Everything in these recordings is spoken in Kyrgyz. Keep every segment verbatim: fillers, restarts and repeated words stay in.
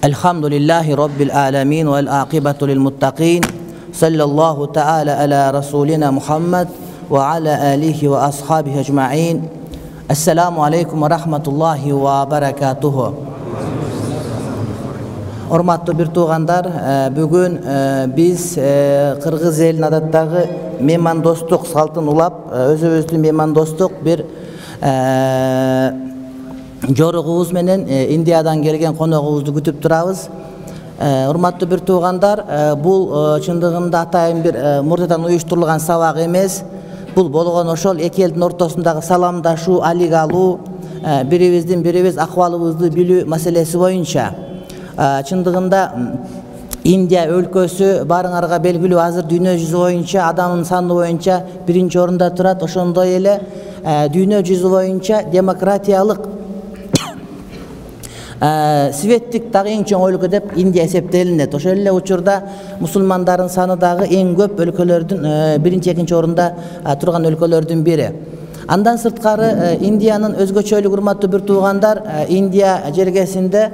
Elhamdülillahi Rabbil alemin vel aqibatu lil muttaqin. Sallallahu ta'ala ala rasulina Muhammed ve ala alihi ve ashabihi ecma'in. Esselamu aleyküm ve rahmetullahi ve berekatuhu. Hormatly bir tuğandar, bugün biz Kırgız elin adattagı mehmandostuk saltын ulap, özübüzdün mehmandostuk bir jorugubuz menen Indiyadan kelgen konogubuzdu күтүп турабыз. Урматтуу бир туугандар, бул чындыгында атайын бир мурдадан уюштурулган сабак эмес. Бул болгон ошол эки элдин ортосундагы саламдашуу, алик алуу, бирибиздин бирибиз акыбалыбызды билүү маселеси боюнча. Чындыгында Индия өлкөсү барыңарга белгилүү, азыр дүйнө жүзү боюнча адамдын саны боюнча биринчи орунда турат. Ошондой эле дүйнө жүзү боюнча демократиялык светтик дагы эң чоң өлкө деп Индия эсептелинет. Ошол эле учурда мусулмандардын саны дагы эң көп өлкөлөрдүн биринчи, экинчи орунда турган өлкөлөрдүн бири. Андан сырткары Индиянын өзгөчөлүгү, урматтуу бир туугандар, Индия жергесинде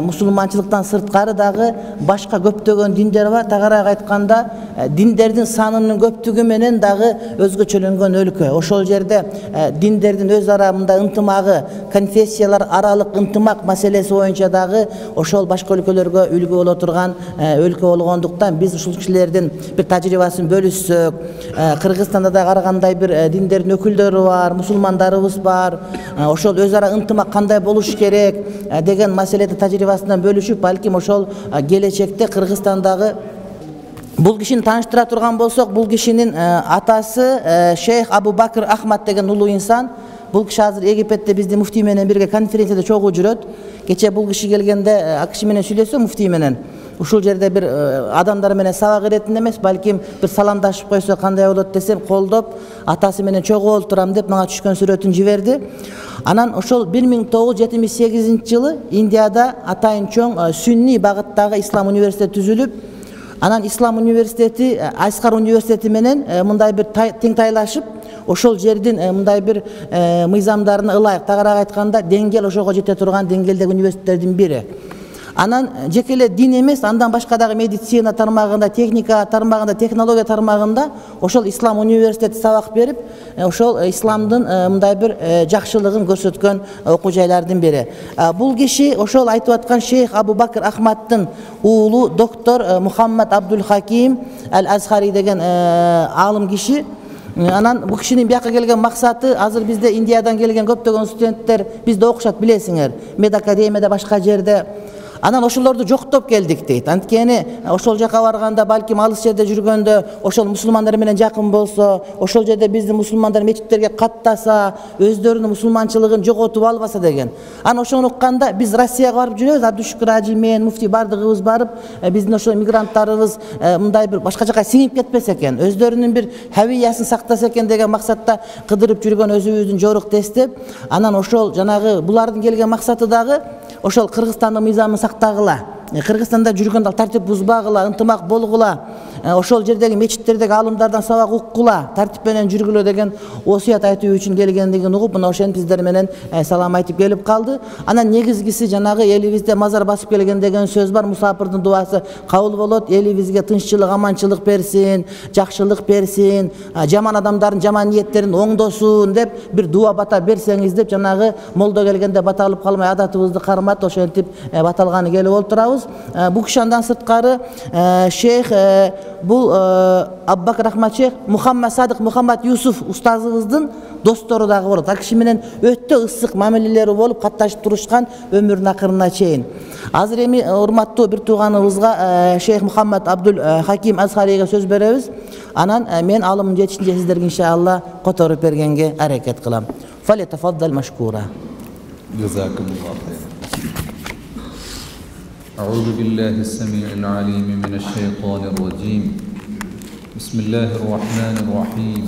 мусулманчылыктан сырткары дагы башка көптөгөн диндер бар. Тагыраак айтканда, диндердин санынын көптүгү менен дагы өзгөчөлөнгөн өлкө. Ошол жерде диндердин өз ара мындай ынтымагы, конфессиялар аралык ынтымак маселеси боюнча дагы ошол башка өлкөлөргө үлгү боло турган өлкө болгондуктан биз ушул кишилердин бир тажрыйбасын бөлүшсөк, Кыргызстанда да карагандай бир диндердин өкүлдөрү бар, мусулмандарыбыз бар. Ошол өз ара ынтымак кандай болуш керек деген маселеде тажрыйбасынан бөлүшүп, балким ошол келечекте Кыргызстандагы бул кишини тааныштыра турган болсок, бул кишинин атасы Шейх Абу Бакр Ахмад деген улуу инсан. Бул киши азыр Египетте биздин муфтий менен бирге конференцияда чогуу жүрөт. Кече бул киши келгенде акчы менен сүйлөсө, муфтий менен ушул жерде бир адамдар менен сабак иретин эмес, балким бир саламдашып койсо кандай болот десем, колдоп атасы менен чогуу олтурам деп мага түшкөн сүрөтүн жиберди. Анан ошол бир миң тогуз жүз жетимиш сегизинчи жылы Индияда атайын чоң сүнний багыттагы ислам университети түзүлүп, анан ислам университети Айскар университети менен мындай бир теңтайлашып, ошол жердин мындай бир мыйзамдарына ылайык, тагыраак айтканда деңгел ошого жете турган деңгелдеги университеттердин бири. Анан жеке эле дин эмес, андан башка дагы медицина тармагында, техника тармагында, технология тармагында ошол ислам университети сабак берип, ошол исламдын мындай бир жакшылыгын көрсөткөн окуу жайлардын бири. Бул киши ошол айтып аткан Шейх Абу Бакр Ахмадтын уулу доктор Мухаммад Абдул Хаким Ал-Азхари деген аалым киши. Анан бул кишинин бияка келген максаты, азыр бизде Индиядан келген көптөгөн студенттер бизде окушат, билесиңер, медакадемияда, башка жерде. Анан ошолорду жоктоп келдик дейт. Анткени ошол жака барганда, балким алыс жерде жүргөндө, ошол мусулмандар менен жакын болсо, ошол жерде биздин мусулмандар мечиттерге каттаса, өздөрүнүн мусулманчылыгын жоготуп албаса деген. Анан ошону укканда биз Россияга барып жүрөбүз, Абдушукур ажи мен, муфтий бардыгыбыз барып, биздин ошол мигранттарыбыз мындай бир башка жака сиңип кетпесе экен, өздөрүнүн бир хавиясын сактаса экен деген максатта кыдырып жүргөн өзүбүздүн жорук дестеп, анан ошол жанагы булардын келген максаты дагы ошол Кыргызстандын мыйзамын сактагыла, Кыргызстанда жүргөндө тартип бузбагыла, ынтымак болгула, ошол жердеги мечиттердеги аалымдардан сабак уккула, тартип менен жүргүлө деген осуят айтуу үчүн келгендигин угуп, мына ошентип сиздер менен салам айтып келип калды. Анан негизгиси жанагы элибизде мазар басып келген деген сөз бар, мусапырдын дуасы кабыл болот, элибизге тынччылык, аманчылык берсин, жакшылык берсин, жаман адамдардын жаман ниеттерин оңдосун деп бир дуа бата берсеңиз деп, жанагы молдо келгенде бата алып калмай адатыбызды кармат, ошентип баталганы келип олтурабыз. Бул киши андан сырткары Шейх бул Абу Бакр Ахмад Шейх Мухаммад Садык Мухаммад Юсуф устазыбыздын достору дагы болот. Ал киши менен өтө ысык мамилелери болуп, катташып турушкан өмүрүнүн акырына чейин. Азыр эми урматтуу бир тууганыбызга Шейх Мухаммад Абдул Хаким Азхариге сөз беребиз. Анан мен алымын жетишинче сиздерге иншалла которуп бергенге аракет кылам. Фалитафаддал машкура. Джазакумуллаху хайр. أعوذ بالله السميع العليم من الشيطان الرجيم. بسم الله الرحمن الرحيم.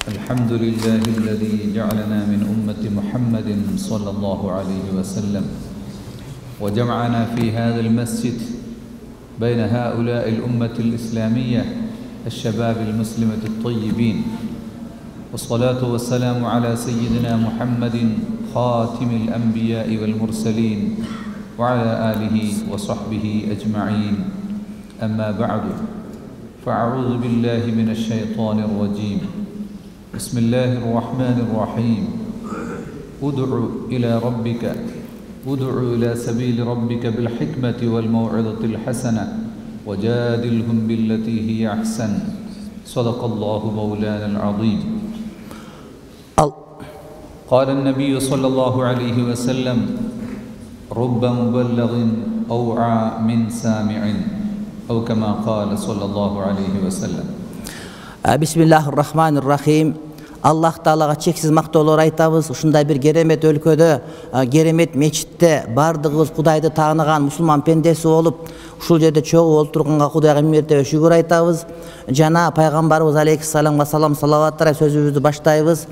الحمد لله الذي جعلنا من أمة محمد صلى الله عليه وسلم وجمعنا في هذا المسجد بين هؤلاء الأمة الإسلامية الشباب المسلمة الطيبين، والصلاة والسلام على سيدنا محمد خاتم الأنبياء والمرسلين وعلى آله وصحبه أجمعين. أما بعد، فأعوذ بالله من الشيطان الرجيم. بسم الله الرحمن الرحيم. ادع إلى ربك ادع إلى سبيل ربك بالحكمة والموعظة الحسنة وجادلهم بالتي هي أحسن. صدق الله مولانا العظيم. قال النبي صلى الله عليه وسلم: رب مبلغ أوعى من سامع، أو كما قال صلى الله عليه وسلم. بسم الله الرحمن الرحيم. Аллах Таалага чексиз мактоолор айтабыз. Ушундай бир керемет өлкөдө, керемет мечитте бардыгыбыз Кудайды тааныган мусулман пендеси болуп, ушул жерде чогуу олтурганга Кудайга миң мертебе шүгүр айтабыз. Жана пайгамбарыбыз алейхиссаламга салам салаваттар сөзүбүздү баштайбыз.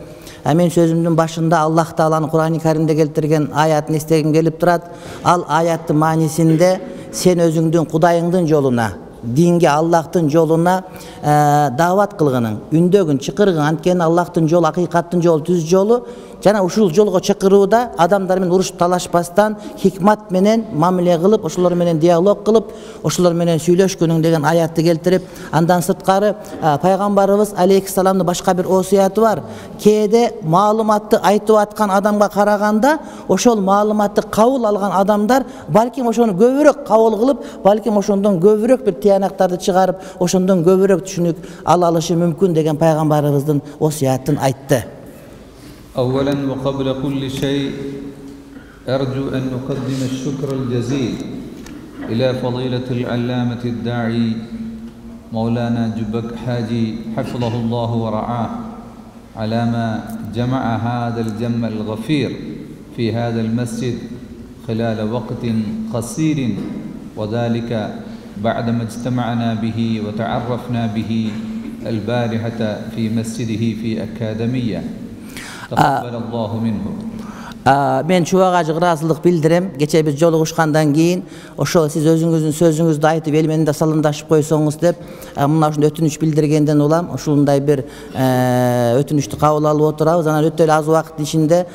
Мен сөзүмдүн башында Аллах Тааланын Кур'ани Каримде келтирген аятын эстегим келип турат. Ал аяттын маанисинде сен өзүңдүн Кудайыңдын жолуна, динге, Аллахтын жолуна даават кылгының, үндөгүн, чакыргың. Анткени Аллахтын жолу акыйкаттын жолу, түз жолу. Жана ушул жолго чакырууда адамдар менен урушуп талашпастан, хикмат менен мамиле кылып, ошолор менен диалог кылып, ошолор менен сүйлөшкөнүң деген аятты келтирип, андан сырткары пайгамбарыбыз алейхиссаламдын башка бир осуяты бар. Кээде маалыматты айтып аткан адамга караганда, ошол маалыматты кабыл алган адамдар балким ошону көбүрөөк кабыл кылып, балким ошондон көбүрөөк бир тыянактарды чыгарып, ошондон көбүрөөк түшүнүк ала алышы мүмкүн деген пайгамбарыбыздын осуятын айтты. أولا وقبل كل شيء أرجو أن أقدم الشكر الجزيل إلى فضيلة العلامة الداعي مولانا جبك حاجي حفظه الله ورعاه على ما جمع هذا الجمع الغفير في هذا المسجد خلال وقت قصير، وذلك بعدما اجتمعنا به وتعرفنا به البارحة في مسجده في أكاديمية. Мен чубак ажы ыраазылык билдирем. Кече биз жолугушкандан кийин ошол сиз өзүңүздүн сөзүңүздү айтып эл менен да салымдашып койсоңуз деп мына ушундай өтүнүч билдиргенден улам ушундай бир өтүнүчтү кабыл алып отурабыз. Анан өтө эле аз убакыттын ичинде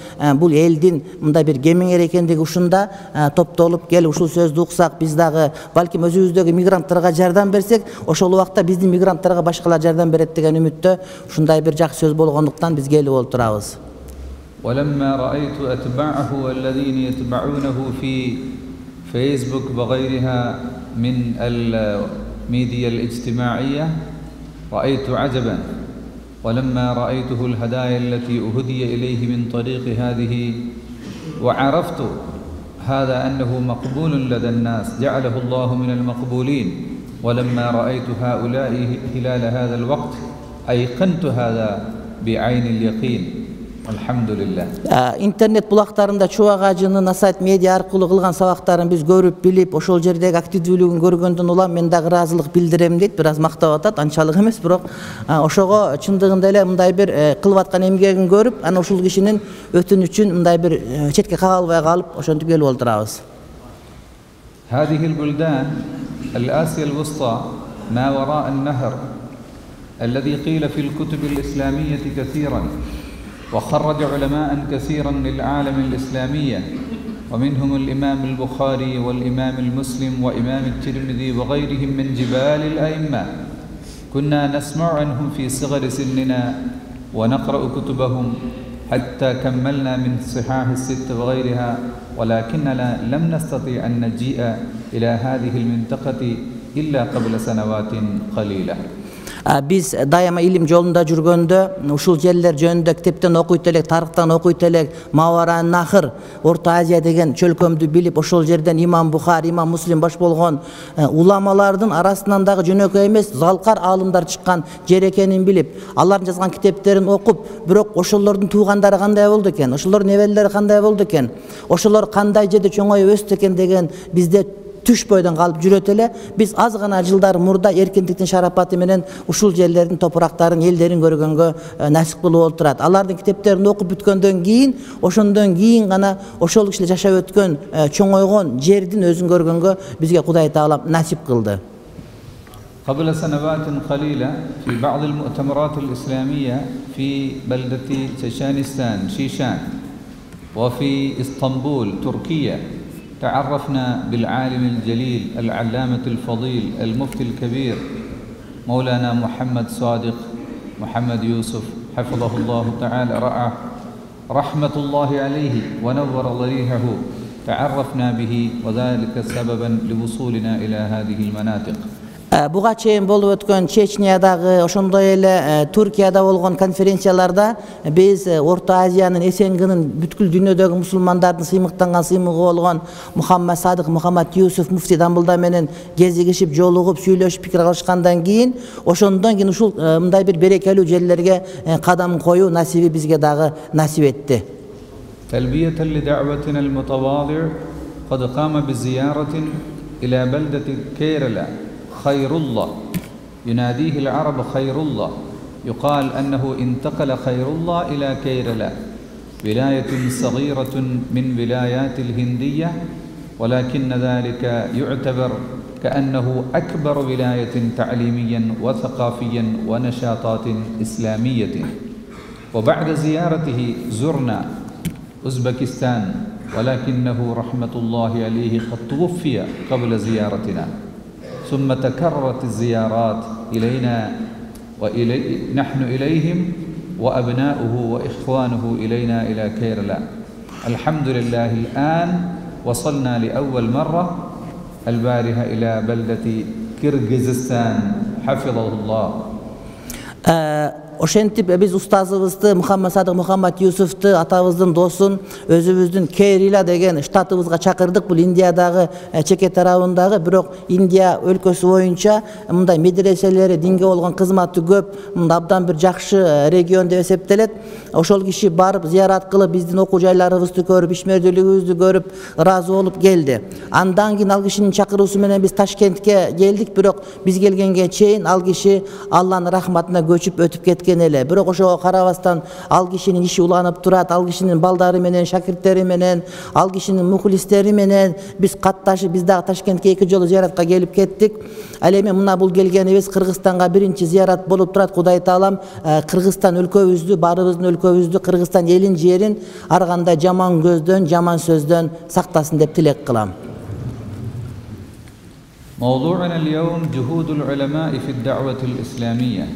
бул элдин мындай бир кемеңер экендиги ушунда топтолуп кел ушул сөздү уксак, биз дагы балким өзүбүздөгү мигранттарга жардам берсек, ошол убакта биздин мигранттарга башкалар жардам берет деген үмүттө ушундай бир жакшы сөз болгондуктан биз келип отурабыз. ولما رأيت أتباعه الذين يتبعونه في فيسبوك وغيرها من الميديا الاجتماعية رأيت عجبا، ولما رأيته الهدايا التي أهدي إليه من طريق هذه وعرفت هذا أنه مقبول لدى الناس جعله الله من المقبولين، ولما رأيت هؤلاء خلال هذا الوقت أيقنت هذا بعين اليقين. Интернет булактарында чубак ажынын Асайт медиа аркылуу кылган сабактарын биз көрүп билип, ошол жердеги активдүүлүгүн көргөндөн улам мен дагы ыраазылык билдирем дейт. Бир аз мактап атат, анчалык эмес, бирок ошого чындыгында эле мындай бир кылып аткан эмгегин көрүп, анан ушул кишинин өтүнүчүн мындай бир четке кага албай калып, ошентип келип отурабыз. هذه البلدان الآسيا الوسطى ما وراء النهر الذي قيل في الكتب الإسلامية كثيرا وخرج علماء كثيرا للعالم الإسلامية، ومنهم الإمام البخاري والإمام المسلم وإمام الترمذي وغيرهم من جبال الأئمة. كنا نسمع عنهم في صغر سننا ونقرأ كتبهم حتى كملنا من صحاح الست وغيرها، ولكننا لم نستطيع أن نجيء إلى هذه المنطقة إلا قبل سنوات قليلة. Биз дайыма илим жолунда жүргөндө ушул жерлер жөнүндө китептен окуйт элек, тарыхтан окуйт элек, Маваран Нахр, Орто Азия деген чөлкөмдү билип, ошол жерден имам Бухари, имам Муслим баш болгон уламалардын арасынан дагы жөнөкөй эмес залкар аалымдар чыккан жер экенин билип, алардын жазган китептерин окуп, бирок ошолордун туугандары кандай болду экен, ошолордун неберелери кандай болду экен, ошолор кандай жерде чоңоюп өстү экен деген бизде түш бойдон калып жүрөт эле. Биз аз гана жылдар мурда эркиндиктин шарапаты менен ушул жерлердин топурактарын, элдерин көргөнгө насип кылып отурат. Алардын китептерин окуп бүткөндөн кийин, ошондон кийин гана ошол кишилер жашап өткөн, чоңойгон жердин өзүн көргөнгө бизге Кудай Таала насип кылды. قبل سنوات قليلة في بعض المؤتمرات الإسلامية في بلدة تشانستان شيشان وفي إسطنبول تركيا تعرفنا بالعالم الجليل العلامة الفضيل المفتي الكبير مولانا محمد صادق محمد يوسف حفظه الله تعالى رعاه رحمة الله عليه ونور ضريحه تعرفنا به وذلك سببا لوصولنا إلى هذه المناطق. Буга чейин болуп өткөн Чечниядагы, ошондой эле Туркияда болгон конференцияларда биз Орто Азиянын эсенгинин бүткүл дүйнөдөгү мусулмандардын сыймыктанган сыймыгы болгон Мухаммад Садык Мухаммад Юсуф муфти Дамбылда менен кезигишип, жолугуп, сүйлөшүп, пикир алышкандан кийин, ошондон кийин ушул мындай бир берекелүү жерлерге кадам коюу насиби бизге дагы насип этти. تلبية لدعوتنا المتواضع قد قام بزيارة إلى بلدة كيرلا خير الله يناديه العرب خير الله يقال أنه انتقل خير الله إلى كيرلا ولاية صغيرة من ولايات الهندية ولكن ذلك يعتبر كأنه أكبر ولاية تعليميا وثقافيا ونشاطات إسلامية. وبعد زيارته زرنا أوزبكستان ولكنه رحمة الله عليه قد توفي قبل زيارتنا ثم تكررت الزيارات إلينا وإلي نحن إليهم وأبناؤه وإخوانه إلينا إلى كيرلا. الحمد لله الآن وصلنا لأول مرة البارحة إلى بلدة كيرغيزستان حفظه الله. Ошентип биз устазыбызды Мухаммад Садык Мухаммад Юсуфту, атабыздын досун өзүбүздүн Керила деген штатыбызга чакырдык. Бул Индиядагы чеке тарабындагы, бирок Индия өлкөсү боюнча мындай медреселери, динге болгон кызматы көп, мындай абдан бир жакшы регион деп эсептелет. Ошол киши барып зыярат кылып, биздин окуу жайларыбызды көрүп, ишмердүүлүгүбүздү көрүп, ыраазы болуп келди. Андан кийин ал кишинин чакыруусу менен биз Ташкентке келдик, бирок биз келгенге чейин ал киши Алланын рахматына көчүп өтүп кеткен эле. Бирок ошого карабастан ал кишинин иши уланып турат, ал кишинин балдары менен, шакирттери менен, ал кишинин мухлистери менен биз катташып, биз дагы Ташкентке эки жолу зыяратка келип кеттик. Ал эми мына бул келгенибиз Кыргызстанга биринчи зыярат болуп турат. Кудай Таалам Кыргызстан өлкөбүздү, баарыбыздын өлкөбүздү, Кыргызстан элин, жерин ар кандай жаман көздөн, жаман сөздөн сактасын деп тилек кылам. موضوعنا اليوم جهود العلماء في الدعوة الإسلامية.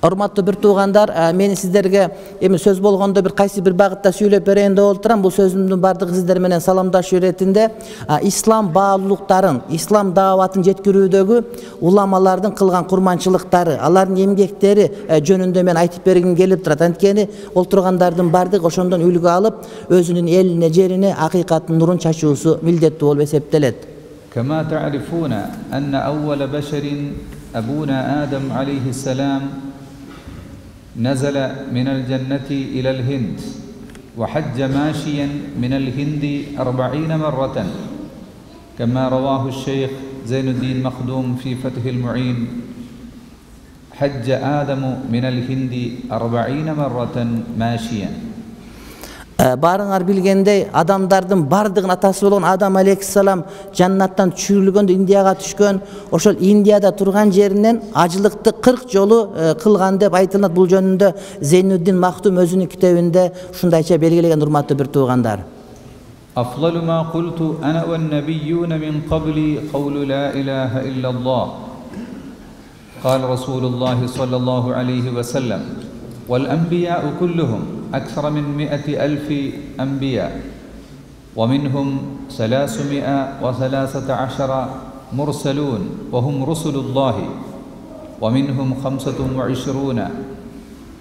Урматтуу бир туугандар, мен сиздерге эми сөз болгондо бир кайсы бир багытта сүйлөп берейин деп отурам. Бул сөзүмдүн бардыгы сиздер менен саламдашуу иретинде ислам баалуулуктарын, ислам дааватын жеткирүүдөгү уламалардын кылган курманчылыктары, алардын эмгектери жөнүндө мен айтып бергим келип турат. Анткени олтургандардын бардыгы ошондон үлгү алып, өзүнүн элине, жерине акыйкаттын нурун чачуусу милдеттүү болуп эсептелет. كما تعرفون أن أول بشر أبونا آدم عليه السلام نزل من الجنة إلى الهند وحج ماشيا من الهند أربعين مرة كما رواه الشيخ زين الدين مخدوم في فتح المعين حج آدم من الهند أربعين مرة ماشيا. Барыңар билгендей, адамдардын бардыгын атасы болгон Адам алейхиссалам жаннаттан түшүрүлгөндө Индияга түшкөн, ошол Индияда турган жеринен ажылыкты кырк жолу кылган деп айтылат. Бул жөнүндө Зейнуддин Махтум өзүнүн китебинде ушундайча белгилеген, урматтуу бир туугандар. أفضل ما قلت أنا والنبيون من قبلي قول لا إله إلا الله قال رسول الله صلى الله عليه وسلم والأنبياء كلهم أكثر من مئة ألف أنبياء ومنهم ثلاثمائة وثلاثة عشر مرسلون وهم رسل الله ومنهم خمسة وعشرون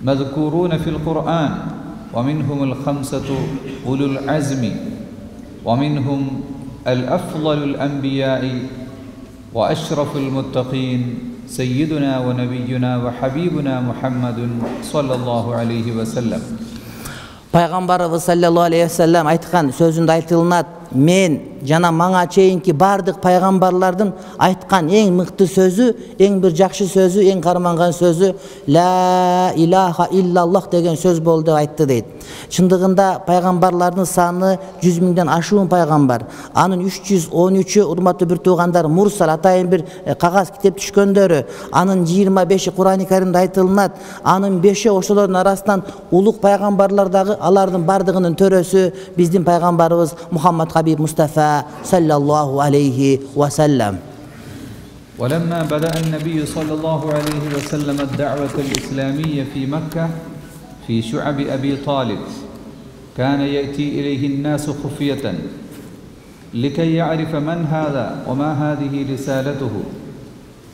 مذكورون في القرآن ومنهم الخمسة أولو العزم ومنهم الأفضل الأنبياء وأشرف المتقين سيدنا ونبينا وحبيبنا محمد صلى الله عليه وسلم. Пайгамбарыбыз саллаллаху алейхи ва саллям айткан сөзүндө айтылынат, мен жана мага чейинки бардык пайгамбарлардын айткан эң мыкты сөзү, эң бир жакшы сөзү, эң карманган сөзү ла илаха иллаллах деген сөз болду деп айтты дейт. Чындыгында пайгамбарлардын саны жүз миңден ашуун пайгамбар. Анын үч жүз он үчү урматтуу бир туугандар мурсал атайын бир кагаз китеп түшкөндөрү, анын жыйырма беши Кур'ани Каримде айтылынат, анын беши ошолордун арасынан улук пайгамбарлар дагы, алардын бардыгынын төрөсү биздин пайгамбарыбыз Мухаммад Хабиб Мустафа саллаллаху алейхи ва саллам. ولما بدأ النبي صلى الله عليه وسلم الدعوة الإسلامية في مكة في شعب أبي طالب كان يأتي إليه الناس خفية لكي يعرف من هذا وما هذه رسالته،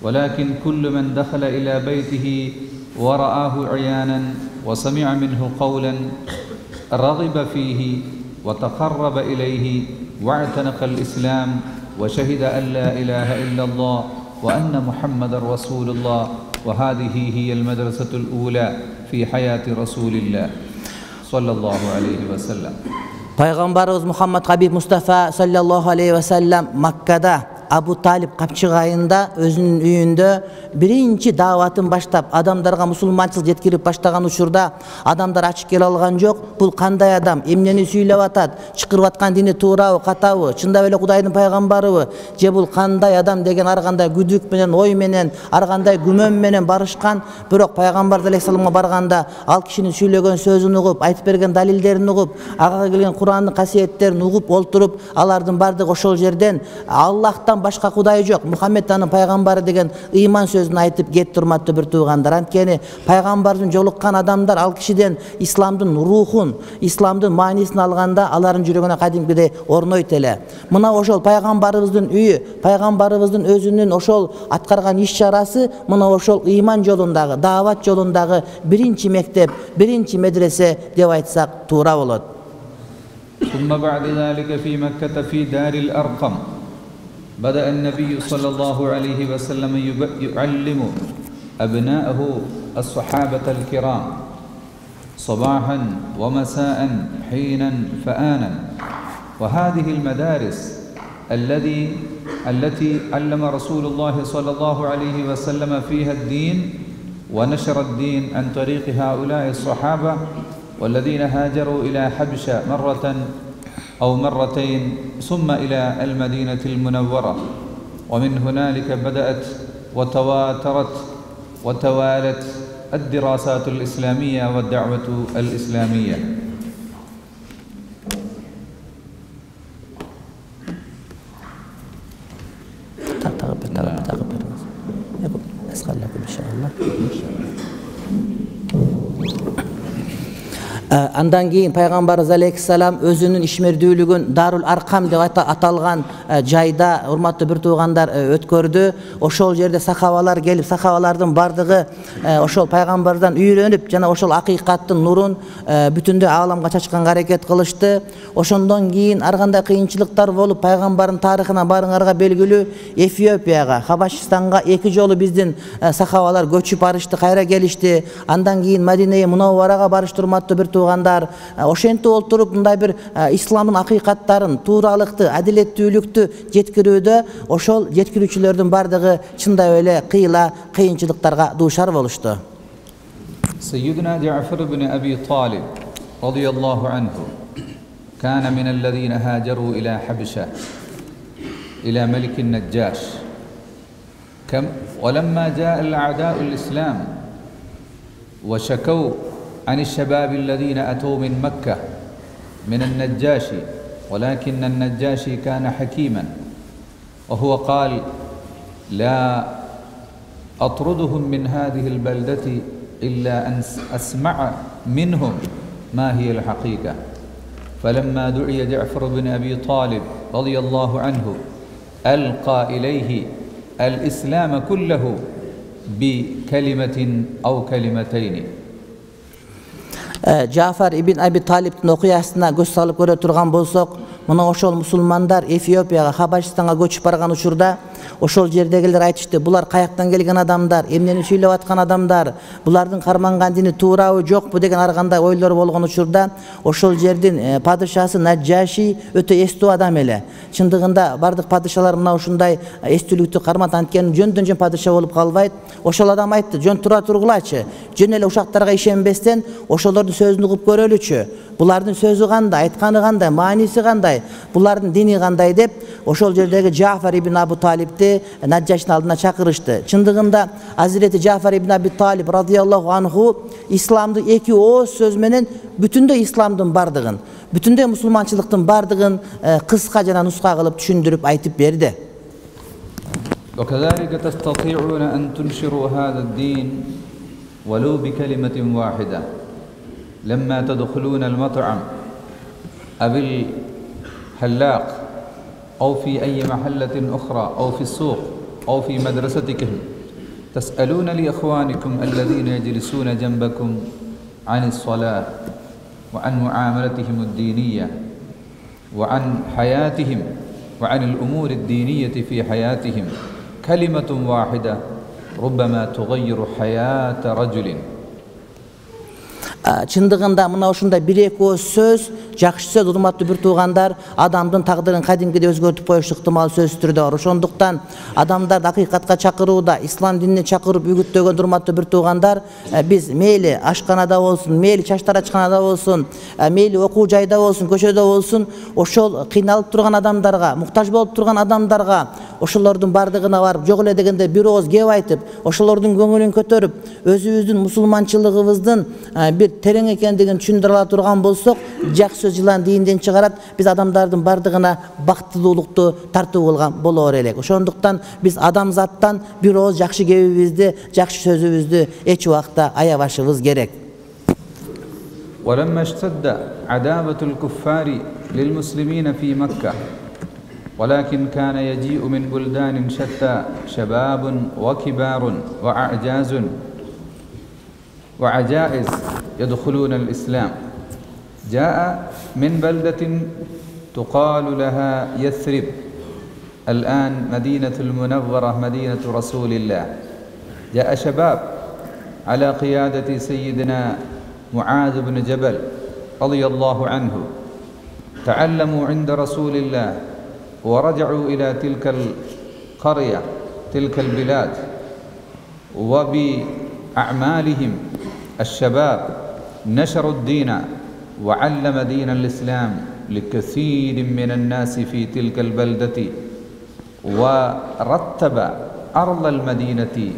ولكن كل من دخل إلى بيته ورآه عيانا وسمع منه قولا رغب فيه وتقرب إليه واعتنق الإسلام وشهد أن لا إله إلا الله وأن محمد رسول الله، وهذه هي المدرسة الأولى في حياة رسول الله صلى الله عليه وسلم. Пайгамбарыбыз Мухаммад Хабиб Мустафа саллаллаху алейхи ва саллам Маккада Абу Талиб капчык айында өзүнүн үйүндө биринчи дааватын баштап, адамдарга мусулманчылык жеткирип баштаган учурда адамдар ачык келе алган жок. Бул кандай адам, эмнени сүйлөп атат, чыкырып аткан дини туурабы, катабы, чындап эле Кудайдын пайгамбарыбы, же бул кандай адам деген ар кандай күдүк менен, ой менен, ар кандай күмөн менен барышкан. Бирок пайгамбар алейхиссаламга барганда ал кишинин сүйлөгөн сөзүн угуп, айтып берген далилдерин угуп, ага келген Кур'андын касиеттерин угуп олтуруп, алардын бардыгы ошол жерден Аллахтан башка Кудай жок, Мухаммед анын пайгамбары деген ыйман сөзүн айтып кетти. Урматтуу бир туугандар, анткени пайгамбардын жолуккан адамдар ал кишиден исламдын рухун, исламдын маанисин алганда алардын жүрөгүнө кадимкидей орнойт эле. Мына ошол пайгамбарыбыздын үйү, пайгамбарыбыздын өзүнүн ошол аткарган иш-чарасы мына ошол ыйман жолундагы, даават жолундагы биринчи мектеп, биринчи медресе деп айтсак туура болот. ثم بعد ذلك في مكة في دار الأرقم بدأ النبي صلى الله عليه وسلم يعلم أبناءه الصحابة الكرام صباحا ومساء حينا فآنا، وهذه المدارس الذي التي علم رسول الله صلى الله عليه وسلم فيها الدين ونشر الدين عن طريق هؤلاء الصحابة والذين هاجروا إلى حبشة مرة أو مرتين ثم إلى المدينة المنورة، ومن هنالك بدأت وتواترت وتوالت الدراسات الإسلامية والدعوة الإسلامية. أسأل لكم إن شاء الله. Андан кийин пайгамбарыбыз алейхиссалам өзүнүн ишмердүүлүгүн Дарул Аркам деп аталган жайда, урматтуу бир туугандар, өткөрдү. Ошол жерде сахабалар келип, сахабалардын бардыгы ошол пайгамбардан үйрөнүп, жана ошол акыйкаттын нурун бүтүндөй ааламга чачканга аракет кылышты. Ошондон кийин ар кандай кыйынчылыктар болуп, пайгамбардын тарыхына барыңарга белгилүү Эфиопияга, Хабашистанга эки жолу биздин сахабалар көчүп барышты, кайра келишти. Андан кийин Мадинеге Мунавварага барышты, урматтуу бир туугандар. Ошентип олтуруп мындай бир исламдын акыйкаттарын, тууралыкты, адилеттүүлүктү жеткирүүдө ошол жеткирүүчүлөрдүн бардыгы чындай эле кыйла кыйынчылыктарга дуушар болушту. سيدنا جعفر بن أبي طالب رضي الله عنه كان من الذين هاجروا إلى حبشة إلى ملك النجاش، كم ولما جاء الأعداء الإسلام وشكوا عن الشباب الذين أتوا من مكة من النجاشي، ولكن النجاشي كان حكيما وهو قال لا أطردهم من هذه البلدة إلا أن أسمع منهم ما هي الحقيقة. فلما دعي جعفر بن أبي طالب رضي الله عنه ألقى إليه الإسلام كله بكلمة أو كلمتين. Jafar ibn Abi Talib'in okuyasına göz salıp göre turgan bolsok, мына ошол мусулмандар Эфиопияга, Хабашистанга көчүп барган учурда ошол жердегилер айтышты, булар каяктан келген адамдар, эмнени сүйлөп аткан адамдар, булардын карманган дини туурабы жокпу деген ар кандай ойлор болгон учурда ошол жердин падышасы Наджаши өтө эстүү адам эле. Чындыгында бардык падышалар мына ушундай эстүүлүктү кармат, анткени жөндөн жөн падыша болуп калбайт. Ошол адам айтты, жөн тура тургулачы, жөн эле ушактарга ишенбестен ошолордун сөзүн угуп көрөлүчү. Булардын сөзү кандай, айтканы кандай, мааниси кандай, булардын дини кандай деп ошол жердеги Жафар ибн Абу Талибти Наджашинин алдына чакырышты. Чындыгында Азирети Жафар ибн Аби Талиб радыйаллаху анху исламды эки ооз сөз менен бүтүндөй исламдын бардыгын, бүтүндөй мусулманчылыктын бардыгын кыска жана нуска кылып түшүндүрүп айтып берди. وكذلك تستطيعون أن تنشروا هذا الدين ولو بكلمة واحدة. لما تدخلون المطعم أو الحلاق أو في أي محلة أخرى أو في السوق أو في مدرستكم تسألون لإخوانكم الذين يجلسون جنبكم عن الصلاة وعن معاملتهم الدينية وعن حياتهم وعن الأمور الدينية في حياتهم. كلمة واحدة ربما تغير حياة رجل. Чындыгында мына ушундай бир-эки ооз сөз, жакшы сөз, урматтуу бир туугандар, адамдын тагдырын кадимкидей өзгөртүп коюшу ыктымал сөзсүз түрдө бар. Ошондуктан адамдарды акыйкатка чакырууда, ислам динине чакырып үгүттөгөн урматтуу бир туугандар, биз мейли ашканада болсун, мейли чач тарачканада болсун, мейли окуу жайда болсун, көчөдө болсун, ошол кыйналып турган адамдарга, муктаж болуп турган адамдарга, ошолордун бардыгына барып, жок эле дегенде бир ооз кеп айтып, ошолордун көңүлүн көтөрүп, өзүбүздүн мусулманчылыгыбыздын бир терең экендигин түшүндүрө ала турган болсок, жакшы сөз жылан диинден чыгарат, биз адамдардын бардыгына бактылуулукту тартуу кылган болор элек. Ошондуктан биз адамзаттан бир ооз жакшы кебибизди, жакшы сөзүбүздү эч убакта аябашыбыз керек. ولما اشتد عداوة الكفار للمسلمين في مكة ولكن كان يجيء من بلدان شتى شباب وكبار وأعجاز وعجائز يدخلون الإسلام. جاء من بلدة تقال لها يثرب، الآن مدينة المنورة مدينة رسول الله. جاء شباب على قيادة سيدنا معاذ بن جبل رضي الله عنه، تعلموا عند رسول الله ورجعوا إلى تلك القرية تلك البلاد، وبأعمالهم الشباب نشروا الدين وعلم دين الإسلام لكثير من الناس في تلك البلدة، ورتب أرض المدينة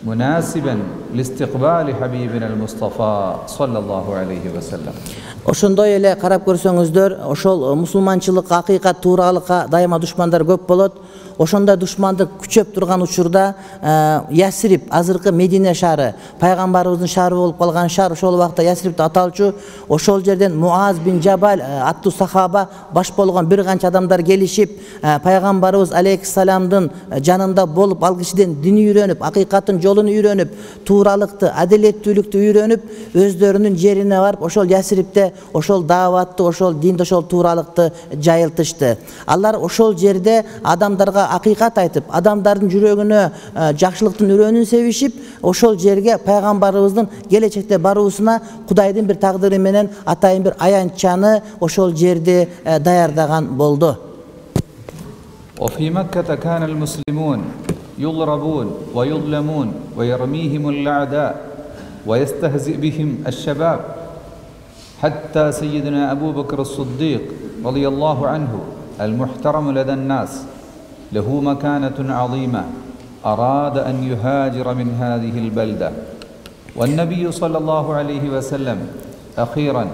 مناسبا لاستقبال حبيبنا المصطفى صلى الله عليه وسلم. Ошондой эле карап көрсөңүздөр, ошол мусулманчылыкка, акыйкат тууралыкка дайыма душмандар көп болот. Ошондой душмандык күчөп турган учурда Ясрип, азыркы Медине шаары, пайгамбарыбыздын шаары болуп калган шаар, ошол убакта Ясрип деп аталчу. Ошол жерден Муаз бин Жабал аттуу сахаба баш болгон бир канча адамдар келишип, пайгамбарыбыз алейхиссаламдын жанында болуп, ал кишиден дин үйрөнүп, акыйкаттын жолун үйрөнүп, тууралыкты, адилеттүүлүктү үйрөнүп, өздөрүнүн жерине барып, ошол Ясрипте ошол дааватты, ошол динди, ошол тууралыкты жайылтышты. Алар ошол жерде адамдарга акыйкат айтып, адамдардын жүрөгүнө жакшылыктын үрөнүн себишип, ошол жерге пайгамбарыбыздын келечекте баруусуна Кудайдын бир тагдыры менен атайын бир аянтчаны ошол жерде даярдаган болду. وفي مكة كان المسلمون يضربون ويظلمون ويرميهم الأعداء ويستهزئ بهم الشباب، حتى سيدنا أبو بكر الصديق رضي الله عنه المحترم لدى الناس له مكانة عظيمة أراد أن يهاجر من هذه البلدة، والنبي صلى الله عليه وسلم أخيرا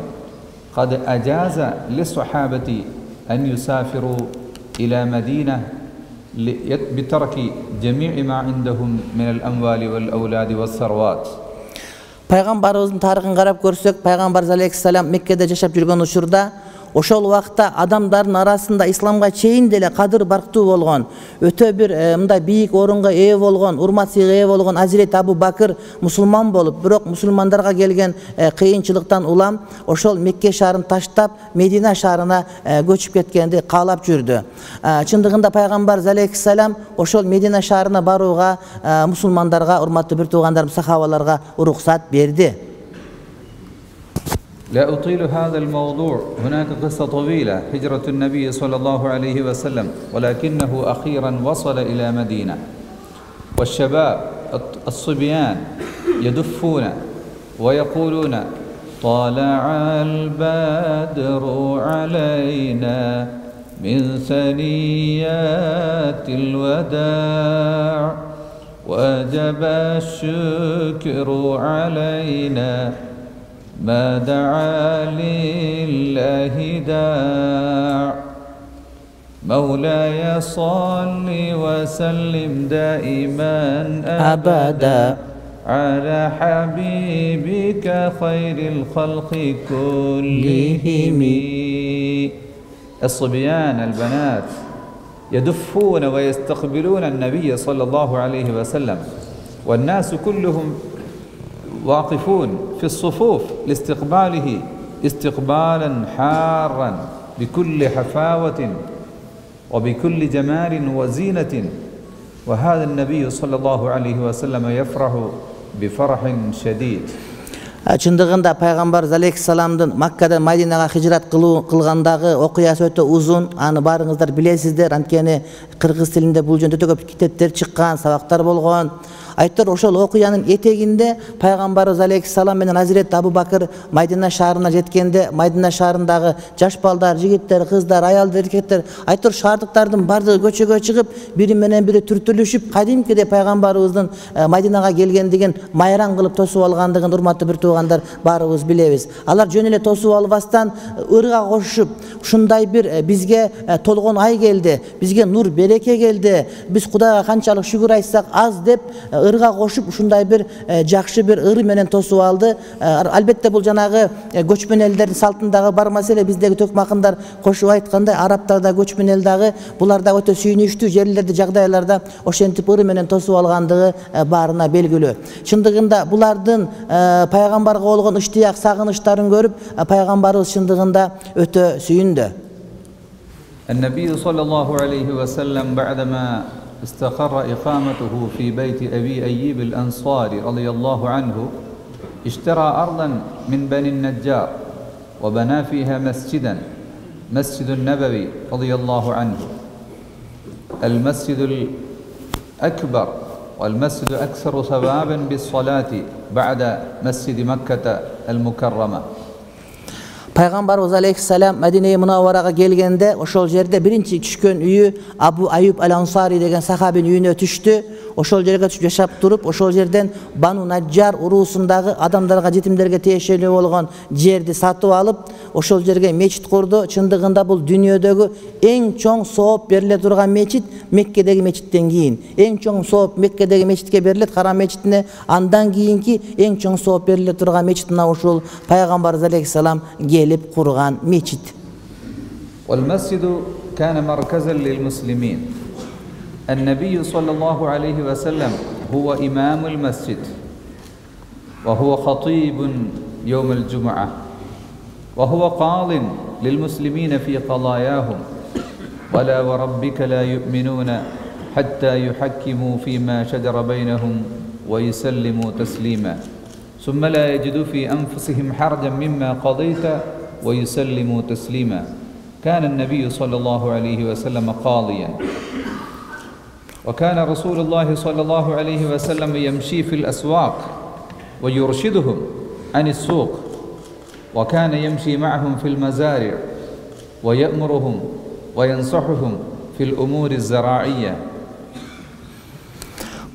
قد أجاز للصحابة أن يسافروا إلى مدينة بترك جميع ما عندهم من الأموال والأولاد والثروات. Пайгамбарыбыздын тарыхын карап көрсөк, пайгамбарыбыз алейхиссалам Меккеде жашап жүргөн учурда ошол убакта адамдардын арасында исламга чейин деле кадыр барктуу болгон, өтө бир мындай бийик орунга ээ болгон, урмат сыйга ээ болгон Азирет Абу Бакыр мусулман болуп, бирок мусулмандарга келген кыйынчылыктан улам ошол Мекке шаарын таштап Медина шаарына көчүп кеткенди каалап жүрдү. Чындыгында пайгамбар алейхиссалам ошол Медина шаарына барууга мусулмандарга, урматтуу бир туугандарым, сахабаларга уруксат берди. لا أطيل هذا الموضوع، هناك قصة طويلة هجرة النبي صلى الله عليه وسلم، ولكنه أخيرا وصل إلى مدينة، والشباب الصبيان يدفون ويقولون طلع البدر علينا من ثنيات الوداع وجب الشكر علينا ما دعا لله داع مولاي صل وسلم دائما أبدا على حبيبك خير الخلق كلهم. الصبيان البنات يدفون ويستقبلون النبي صلى الله عليه وسلم، والناس كلهم واقفون في الصفوف لاستقباله استقبالا حارا بكل حفاوة وبكل جمال وزينة، وهذا النبي صلى الله عليه وسلم يفرح بفرح شديد. Чындыгында пайгамбар алейхиссаламдын Маккадан Мадинага хижрат кылгандагы окуясы өтө узун. Аны баарыңыздар билесиздер. Анткени кыргыз тилинде бул жөнүндө өтө көп китептер чыккан, сабактар болгон. Айтор ошол окуянын этегинде пайгамбарыбыз алейхиссалам менен Азирет Абу Бакыр Мадина шаарына жеткенде, Мадина шаарындагы жаш балдар, жигиттер, кыздар, аялдар, эркектер, айтор шаардыктардын бардыгы көчөгө чыгып, бири менен бири түртүлүшүп, кадимкиде пайгамбарыбыздын Мадинага келгендигин майран кылып тосуп алгандыгын урматтуу бир туугандар баарыбыз билебиз. Алар жөн эле тосуп албастан ырга кошушуп, ушундай бир бизге толгон ай келди, бизге нур береке келди, биз Кудайга канчалык шүгүр айтсак аз деп ырга кошуп ушундай бир жакшы бир ыры менен тосуп алды. Албетте бул жанагы көчмөн элдердин салтындагы бар маселе, биздеги төкмакындар кошуп айткандай, арабтарда көчмөн эл дагы булар да өтө сүйүнүчтүү жерлерде, жагдайларда ошентип ыры менен тосуп алгандыгы баарына белгилүү. Чындыгында булардын пайгамбарга болгон ыштыяк, сагынычтарын көрүп, пайгамбарыбыз чындыгында өтө сүйүндү. النبي صلى الله عليه وسلم بعدما استقر إقامته في بيت أبي أيوب الأنصاري رضي الله عنه اشترى أرضا من بني النجار وبنى فيها مسجدا، مسجد النبوي رضي الله عنه، المسجد الأكبر والمسجد أكثر ثوابا بالصلاة بعد مسجد مكة المكرمة. Пайгамбарыбыз алейхиссалам Мадина Мунавварага келгенде ошол жерде биринчи түшкөн үйү Абу Аюб ал-Ансари деген сахабинин үйүнө түштү. Ошол жерге түшүп жашап туруп, ошол жерден Бану Наджар уруусундагы адамдарга, жетимдерге тиешелүү болгон жерди сатып алып, ошол жерге мечит курду. Чындыгында бул дүйнөдөгү эң чоң сооп бериле турган мечит Меккедеги мечиттен кийин. Эң чоң сооп Меккедеги мечитке берилет, Харам мечитине. Андан кийинки эң чоң сооп бериле турган мечит мына ушул Пайгамбарыбыз алейхиссалам келип курган мечит. والمسجد كان مركزا للمسلمين. النبي صلى الله عليه وسلم هو إمام المسجد وهو خطيب يوم الجمعة وهو قاض للمسلمين في قضاياهم، ولا وربك لا يؤمنون حتى يحكموا فيما شجر بينهم ويسلموا تسليما ثم لا يجدوا في أنفسهم حرجا مما قضيت ويسلموا تسليما. كان النبي صلى الله عليه وسلم قاضيا، وكان رسول الله صلى الله عليه وسلم يمشي في الأسواق ويرشدهم عن السوق، وكان يمشي معهم في المزارع ويأمرهم وينصحهم في الأمور الزراعية.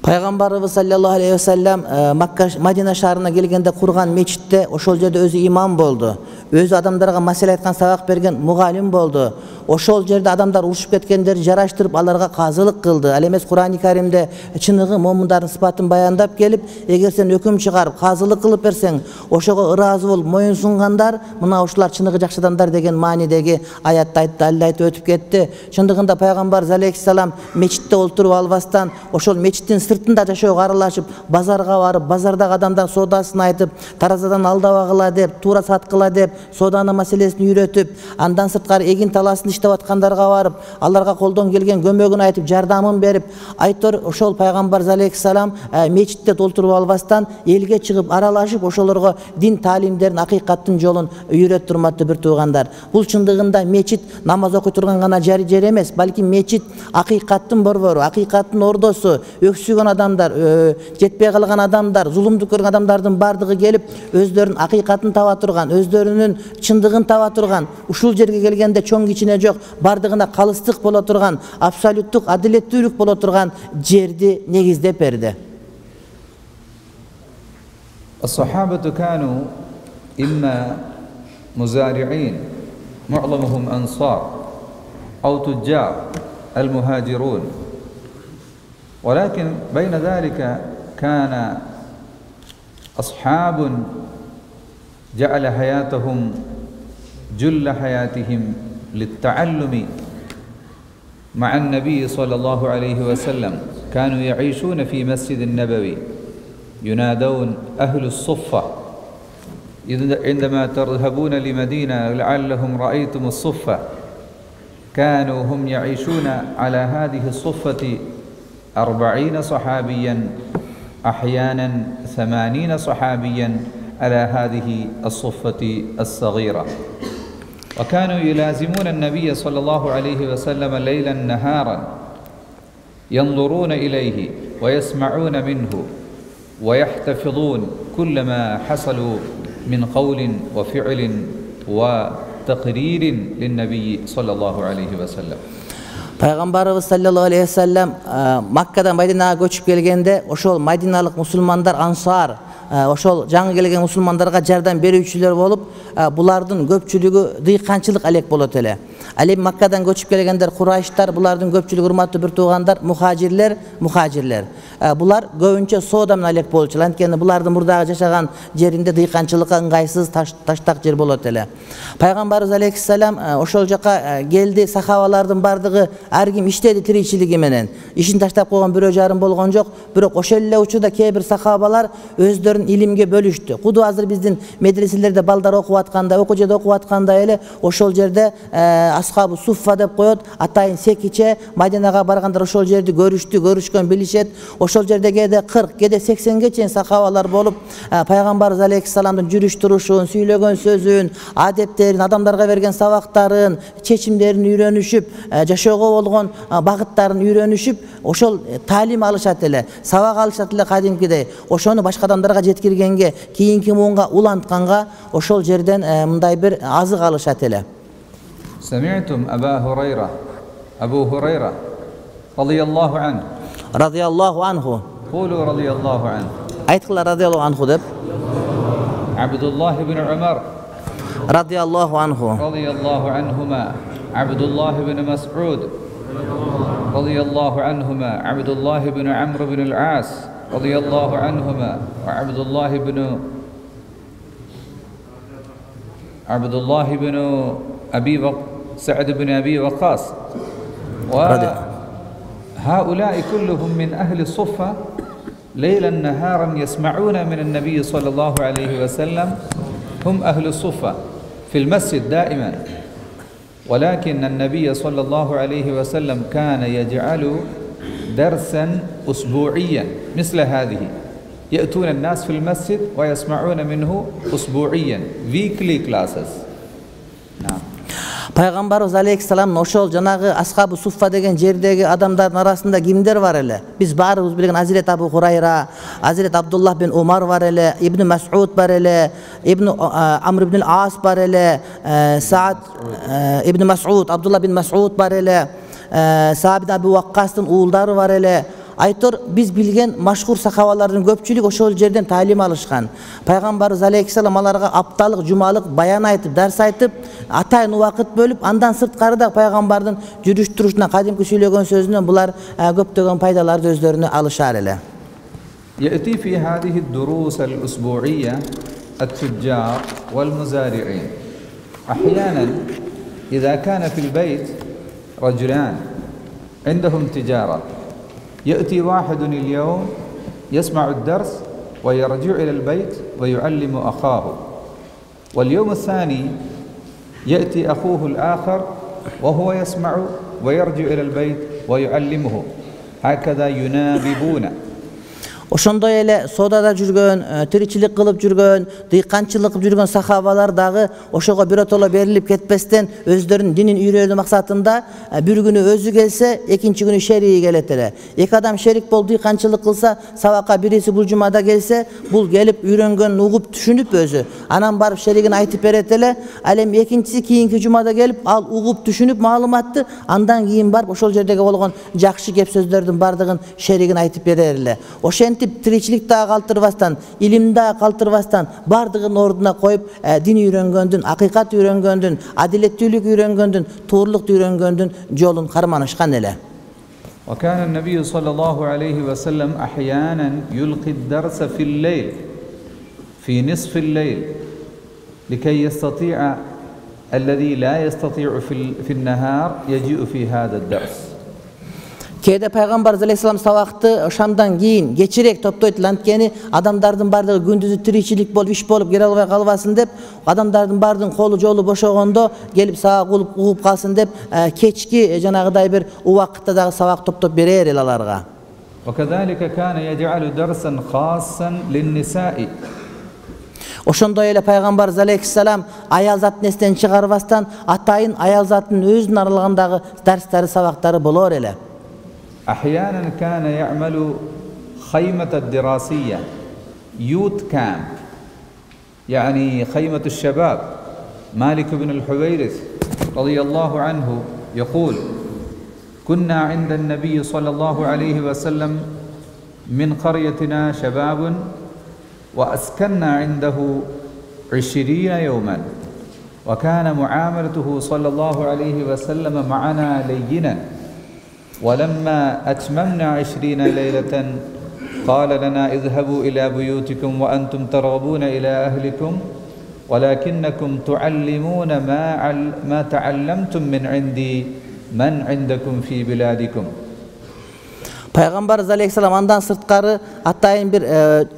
Пайгамбарыбыз саллаллаху алейхи ва саллям Макка Мадина шаарына келгенде курган мечитте ошол жерде өзү имам болду. Өзү адамдарга маселе айткан, сабак берген мугалим болду. ошол жерде адамдар урушуп кеткендерди жараштырып аларга казылык кылды. Ал эмес Кур'ан-ы Каримде чыныгы момундардын сыпатын баяндап келип, эгер сен өкүм чыгарып казылык кылып берсең, ошого ыраазы болуп моюн сунгандар, мына ушулар чыныгы жакшы адамдар деген маанидеги аятты айтты, далил айтып өтүп кетти. Чындыгында пайгамбарыбыз алейхиссалам мечитте олтуруп албастан, ошол мечиттин сыртында жашоого аралашып, базарга барып, базардагы адамдар соодасын айтып, таразадан алдабагыла деп, туура саткыла деп, сооданы маселесин үйрөтүп, андан сырткары эгин таласын иштеп аткандарга барып, аларга колдон келген көмөгүн айтып, жардамын берип, айтор ошол пайгамбарыбыз алейхиссалам мечитте толтуруп албастан элге чыгып аралашып, ошолорго дин таалимдерин, акыйкаттын жолун үйрөтүп турматтуу бир туугандар. Бул чындыгында мечит намаз окуй турган гана жер эмес, балки мечит акыйкаттын борбору, акыйкаттын ордосу. Өксүгөн адамдар, жетпей калган адамдар, зулумдук көргөн адамдардын бардыгы келип, өздөрүнүн акыйкатын таба турган, өздөрүнүн чындыгын таба турган, ушул жерге келгенде чоң кичине жок, бардыгына калыстык боло турган, абсолюттук адилеттүүлүк боло турган жерди негиздеп берди. الصحابة كانوا إما مزارعين معظمهم أنصار أو تجار المهاجرون، ولكن بين ذلك كان أصحاب جعل حياتهم جل حياتهم للتعلم مع النبي صلى الله عليه وسلم. كانوا يعيشون في مسجد النبوي ينادون أهل الصفة. عندما تذهبون لمدينة لعلهم رأيتم الصفة، كانوا هم يعيشون على هذه الصفة أربعين صحابيا، أحيانا ثمانين صحابيا على هذه الصفة الصغيرة. وكانوا يلازمون النبي صلى الله عليه وسلم ليلا نهارا، ينظرون إليه ويسمعون منه ويحتفظون كل ما حصلوا من قول وفعل وتقرير للنبي صلى الله عليه وسلم. Пайгамбарыбыз саллаллаху алейхи ва саллям Маккадан Мадинага көчүп келгенде, ошол мадиналык мусулмандар ансар, ошол жаңы келген мусулмандарга жардам берүүчүлөр болуп, булардын көпчүлүгү дыйканчылык алек болот эле. Ал эми Маккадан көчүп келгендер Курайштар, булардын көпчүлүгү урматтуу бир туугандар, мухажирлер, мухажирлер. Булар көбүнчө соода менен алек болчулар. Анткени булардын мурдагы жашаган жеринде дыйканчылыкка ыңгайсыз таштак жер болот эле. Пайгамбарыбыз алейхиссалам ошол жака келди, сахабалардын бардыгы ар ким иштеди тиричилиги менен. Ишин таштап койгон бирөө жарым болгон жок, бирок ошол эле учурда кээ бир сахабалар өздөрүн илимге бөлүштү. Куду азыр биздин медреселерде балдар окуп атканда, окуучуда окуп атканда эле ошол жерде асхабы суффа деп коет, атайын секиче Мадинага баргандар ошол жерди көрүштү, көрүшкөн, билишет. Ошол жерде кээде кырк, кээде сексенге чейин сахабалар болуп, пайгамбарыбыз алейхиссаламдын жүрүш турушун, сүйлөгөн сөзүн, адеттерин, адамдарга берген сабактарын, чечимдерин үйрөнүшүп, жашоого болгон багыттарын үйрөнүшүп, ошол таалим алышат эле, сабак алышат эле кадимкидей. Ошону башка адамдарга жеткиргенге, кийинки муунга улантканга ошол жерден мындай бир азык алышат эле. سمعتم أبا هريرة أبو هريرة رضي الله عنه رضي الله عنه قولوا رضي الله عنه aytqılar radiyallahu anhu deb. عبد الله بن عمر رضي الله عنه رضي الله عنهما عبد الله بن مسعود رضي الله عنهما عبد الله بن عمرو بن العاص رضي الله عنهما وعبد الله بن عبد الله بن أبي وق... سعد بن أبي وقاص، وهؤلاء كلهم من أهل الصفة ليلا نهارا يسمعون من النبي صلى الله عليه وسلم. هم أهل الصفة في المسجد دائما، ولكن النبي صلى الله عليه وسلم كان يجعل درسا أسبوعيا مثل هذه، يأتون الناس في المسجد ويسمعون منه أسبوعيا weekly classes. نعم. Пайгамбарыбыз алейхиссалам ошол жанагы асхабы суффа деген жердеги адамдардын арасында кимдер бар эле? Биз баарыбыз билген Азирет Абу Хурайра, Азирет Абдуллах бин Умар бар эле, Ибн Мас'уд бар эле, Ибн Амр ибн Ас бар эле, Саад Ибн Мас'уд, Абдуллах бин Мас'уд бар эле, Саад бин Абу Ваккастын уулдары бар эле. Айтор биз билген машхур сахабалардын көпчүлүгү ошол жерден таалим алышкан. Пайгамбарыбыз алейхиссалам аларга апталык, жумалык баян айтып, дарс айтып, атайын убакыт бөлүп, андан сырткары да пайгамбардын жүрүш турушунан, кадимки сүйлөгөн сөзүнөн булар көптөгөн пайдаларды өздөрүнө алышар эле. يأتي في هذه الدروس الأسبوعية التجار والمزارعين. أحيانا إذا كان في البيت رجلان عندهم تجارة، يأتي واحد اليوم يسمع الدرس ويرجع إلى البيت ويعلم أخاه، واليوم الثاني يأتي أخوه الآخر وهو يسمع ويرجع إلى البيت ويعلمه، هكذا يناببون. Ошондой эле содада жүргөн, тиричилик кылып жүргөн, дыйканчылык кылып жүргөн сахабалар дагы ошого биротоло берилип кетпестен өздөрүнүн динин үйрөнүү максатында бир күнү өзү келсе, экинчи күнү шериги келет эле. Эки адам шерик болуп дыйканчылык кылса, сабакка бириси бул жумада келсе, бул келип үйрөнгөнүн угуп түшүнүп өзү, анан барып шеригин айтып берет эле. Ал эми экинчиси кийинки жумада келип, ал угуп түшүнүп маалыматты, андан кийин барып ошол жердеги болгон жакшы кеп сөздөрдүн бардыгын шеригин айтып берер эле. Ошентип тиричилик дагы калтырбастан, илим дагы калтырбастан бардыгын ордуна коюп, дин үйрөнгөндүн, акыйкат үйрөнгөндүн, адилеттүүлүк үйрөнгөндүн, туурлукту үйрөнгөндүн жолун карманышкан эле. وكان النبي صلى الله عليه وسلم أحيانا يلقي الدرس في الليل في نصف الليل لكي يستطيع الذي لا يستطيع في النهار يجيء في هذا الدرس. Кээде пайгамбарыбыз алейхиссалам сабакты шамдан кийин кечирээк топтойт, анткени адамдардын бардыгы күндүзү тиричилик болуп, иш болуп келе албай калбасын деп, адамдардын бардыгын колу жолу бошогондо келип сабак угуп угуп калсын деп, кечки жанагыдай бир убакытта дагы сабак топтоп берер эл аларга. وكذلك كان يجعل درسا خاصا للنساء. Ошондой эле пайгамбарыбыз алейхиссалам аял затын эстен чыгарбастан атайын аял затын өзүнүн аралыгындагы дарстары, сабактары болор эле. أحيانا كان يعمل خيمة الدراسية يوت كامب، يعني خيمة الشباب. مالك بن الحويرث رضي الله عنه يقول: كنا عند النبي صلى الله عليه وسلم من قريتنا شباب وأسكننا عنده عشرين يوما، وكان معاملته صلى الله عليه وسلم معنا لينا، ولما أتممنا عشرين ليلة قال لنا: اذهبوا إلى بيوتكم وأنتم ترغبون إلى أهلكم، ولكنكم تعلمون ما ما تعلمتم من عندي من عندكم في بلادكم. Пайгамбарыбыз алейхиссалам андан сырткары атайын бир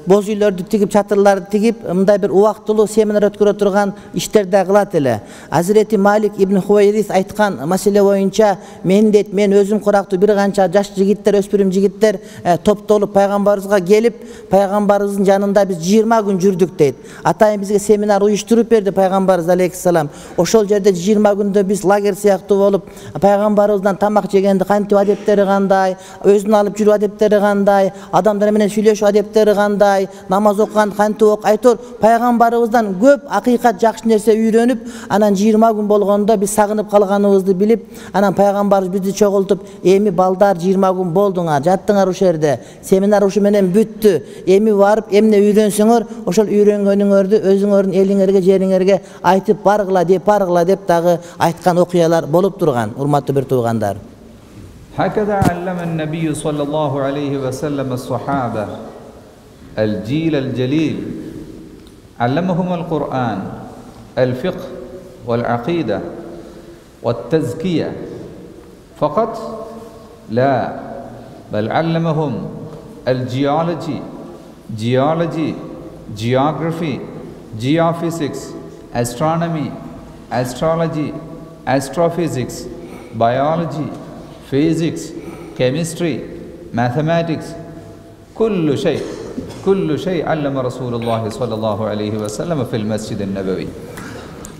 боз үйлөрдү тигип, чатырларды тигип, мындай бир убактылуу семинар өткөрө турган иштер да кылат эле. Азирети Малик ибн Хувайрис айткан маселе боюнча мен дейт, мен өзүм курактуу бир канча жаш жигиттер, өспүрүм жигиттер топтолуп пайгамбарыбызга келип, пайгамбарыбыздын жанында биз жыйырма күн жүрдүк дейт. Атайын бизге семинар уюштуруп берди пайгамбарыбыз алейхиссалам. Ошол жерде жыйырма күндө биз лагерь сыяктуу болуп, пайгамбарыбыздан тамак жегенди кантип адептери кандай, өзүнүн алып жүрүү адептери кандай, адамдар менен сүйлөшүү адептери кандай, намаз окуган кантип ок, айтор пайгамбарыбыздан көп акыйкат жакшы нерсе үйрөнүп, анан жыйырма күн болгондо биз сагынып калганыбызды билип, анан пайгамбарыбыз бизди чогултуп: эми балдар жыйырма күн болдуңар, жаттыңар ушул жерде, семинар ушу менен бүттү, эми барып эмне үйрөнсөңөр, ошол үйрөнгөнүңөрдү өзүңөрдүн элиңерге, жериңерге айтып баргыла деп баргыла деп дагы айткан окуялар болуп турган, урматтуу бир туугандар. هكذا علم النبي صلى الله عليه وسلم الصحابة الجيل الجليل، علمهم القرآن، الفقه والعقيدة والتزكية فقط؟ لا، بل علمهم الجيولوجي، geology, geography, geophysics, astronomy, astrology, astrophysics, biology, physics, chemistry, mathematics، كل شيء كل شيء علم رسول الله صلى الله عليه وسلم في المسجد النبوي.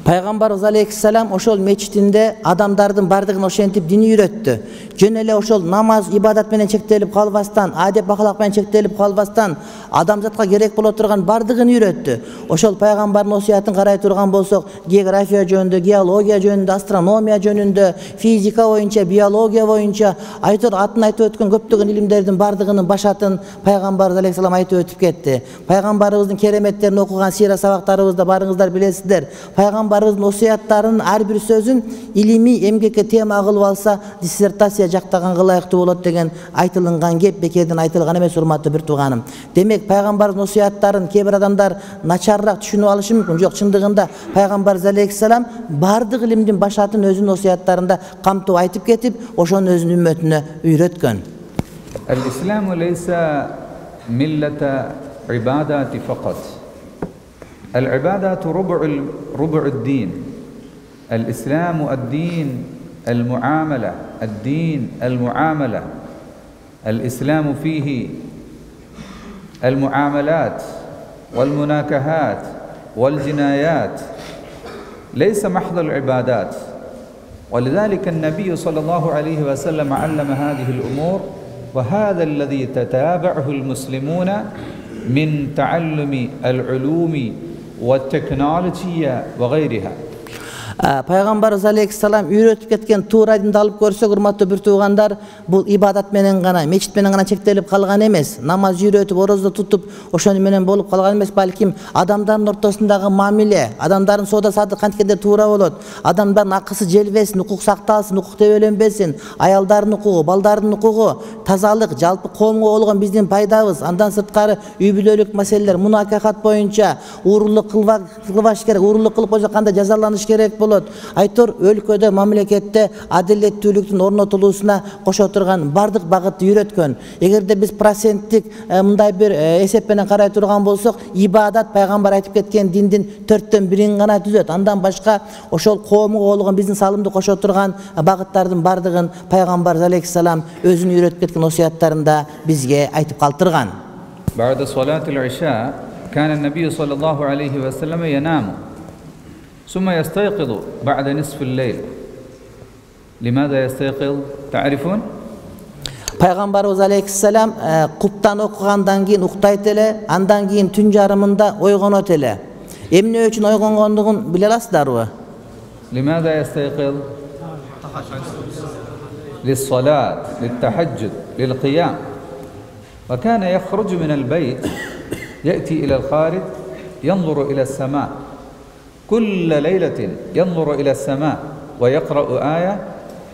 Пайгамбарыбыз алейхиссалам ошол мечитинде адамдардын бардыгын ошентип дини үйрөттү. Жөн эле ошол намаз, ибадат менен чектелип калбастан, адеп ахлак менен чектелип калбастан адамзатка керек боло турган бардыгын үйрөттү. Ошол пайгамбардын осуятын карай турган болсок, география жөнүндө, геология жөнүндө, астрономия жөнүндө, физика боюнча, биология боюнча айтор атын айтып өткөн көптөгөн илимдердин бардыгынын башатын пайгамбарыбыз алейхиссалам айтып өтүп кетти. Пайгамбарыбыздын кереметтерин окуган сира сабактарыбызда барыңыздар билесиздер. Пайгамбарыбыздын осуяттарынын ар бир сөзүн илимий эмгекке тема кылып алса, диссертация жактаганга ылайыктуу болот деген айтылган кеп бекерден айтылган эмес, урматтуу бир тууганым. Демек, пайгамбардын осуяттарын кээ бир адамдар начарыраак түшүнүп алышы мүмкүн. Жок, чындыгында пайгамбарыбыз алейхиссалам бардык илимдин башатын өзүнүн осуяттарында камтып айтып кетип, ошону өзүнүн үммөтүнө үйрөткөн. الإسلام ليس ملة عبادات فقط. العبادات ربع ربع الدين. الإسلام الدين المعاملة الدين المعاملة الإسلام فيه المعاملات والمناكهات والجنايات، ليس محض العبادات. ولذلك النبي صلى الله عليه وسلم علم هذه الأمور، وهذا الذي تتابعه المسلمون من تعلم العلوم والتكنولوجيا وغيرها. Пайгамбарыбыз алейхиссалам үйрөтүп кеткен туура динди алып көрсөк, урматтуу бир туугандар, бул ибадат менен гана, мечит менен гана чектелип калган эмес. Намаз үйрөтүп, орозо тутуп, ошону менен болуп калган эмес, балким адамдардын ортосундагы мамиле, адамдардын соода саттык канткенде туура болот, адамдардын акысы желбесин, укук сакталсын, укук тебеленбесин, аялдардын укугу, балдардын укугу, тазалык, жалпы коомго болгон биздин пайдабыз, андан сырткары үй бүлөлүк маселелер, мунакахат боюнча уурулук кылбаш керек, уурулук кылып койсо кандай жазаланыш керек болот. Айтор өлкөдө, мамлекетте адилеттүүлүктүн орнотулуусуна кошо турган бардык багытты үйрөткөн. Эгерде биз проценттик мындай бир эсеп менен карай турган болсок, ибадат пайгамбар айтып кеткен диндин төрттөн бирин гана түзөт. Андан башка ошол коомго болгон биздин салымды кошо турган багыттардын бардыгын пайгамбар алейхиссалам өзүнүн үйрөтүп кеткен осуяттарында бизге айтып калтырган. بعد صلاة العشاء كان النبي صلى الله عليه وسلم ينام ثم يستيقظ بعد نصف الليل. لماذا يستيقظ؟ تعرفون؟ Пайгамбарыбыз алейхиссалам куптан окугандан кийин уктайт эле, андан кийин түн жарымында ойгонот эле. Эмне үчүн ойгонгондугун биле аласыздарбы? لماذا يستيقظ؟ للصلاة، للتهجد، للقيام. وكان يخرج من البيت يأتي إلى الخارج ينظر إلى السماء كل ليلة، ينظر إلى السماء ويقرأ آية: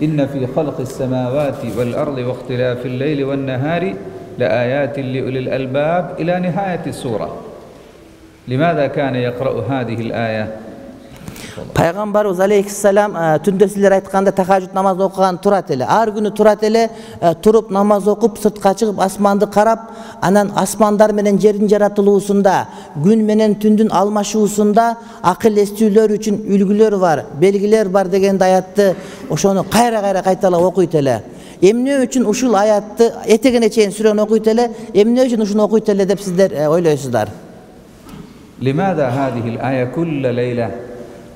إن في خلق السماوات والأرض واختلاف الليل والنهار لآيات لأولي الألباب إلى نهاية السورة. لماذا كان يقرأ هذه الآية؟ Пайгамбарыбыз алейхиссалам түндө силер айтканда тахажжуд намаз окуган турат эле. Ар күнү турат эле, туруп намаз окуп, сыртка чыгып асманды карап, анан асмандар менен жердин жаратылуусунда, күн менен түндүн алмашуусунда акыл эстүүлөр үчүн үлгүлөр бар, белгилер бар деген аятты ошону кайра-кайра кайталап окуйт эле. Эмне үчүн ушул аятты этегене чейин сүрөнү окуйт эле, эмне үчүн ушуну окуйт эле деп сиздер ойлойсуздар? لماذا هذه الآية كل ليلة؟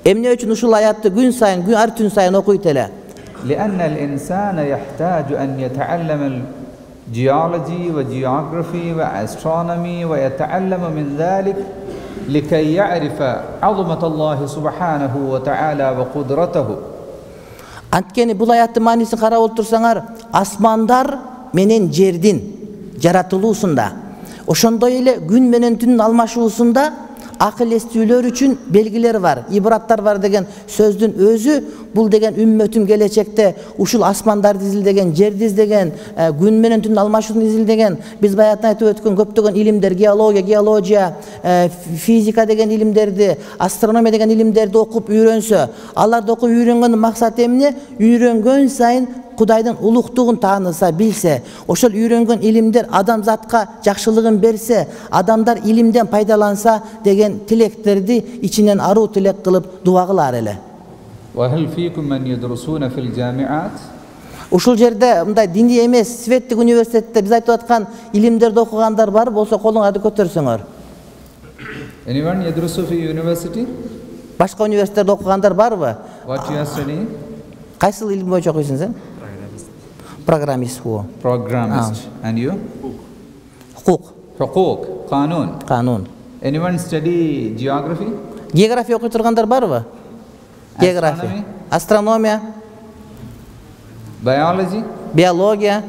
Эмне үчүн ушул аятты күн сайын, күн ар түн сайын окуйт эле? لأن الإنسان يحتاج أن يتعلم الجيولوجي وجيوغرافي وأسترونومي ويتعلم من ذلك لكي يعرف عظمة الله سبحانه وتعالى وقدرته. Анткени бул аяттын маанисин карап отурсаңар, асмандар менен жердин жаратылуусунда, ошондой эле күн менен түндүн алмашуусунда акыл эстүүлөр үчүн белгилер бар, ибраттар бар деген сөздүн өзү бул деген үммөтүм келечекте ушул асмандарды изилдеген, жерди изилдеген, күн менен түндүн алмашууну изилдеген, биз баягы айтып өткөн көптөгөн илимдер, геология, геология, физика деген илимдерди, астрономия деген илимдерди окуп үйрөнсө, аларды окуп үйрөнгөндүн максаты эмне? Үйрөнгөн сайын Кудайдын улуктугун тааныса, билсе, ошол үйрөнгөн илимдер адамзатка жакшылыгын берсе, адамдар илимден пайдаланса деген тилектерди ичинен аруу тилек кылып дуа кылар эле. وهل فيكم من يدرسون في الجامعات؟ Ушул жерде мындай диний эмес, светтик университетте биз айтып аткан илимдерди окугандар бар болсо колуңарды көтөрсөңөр. Anyone يدرس في university? Башка университетте окугандар барбы? What you are studying? Кайсыл илим боюнча окуйсуң сен? Программист. Programmist. And you? Hukuk. Hukuk. Kanun. Kanun. Anyone study geography? Geografiya окуй тургандар барбы? Geografiya. Астрономия. Biology? Биология.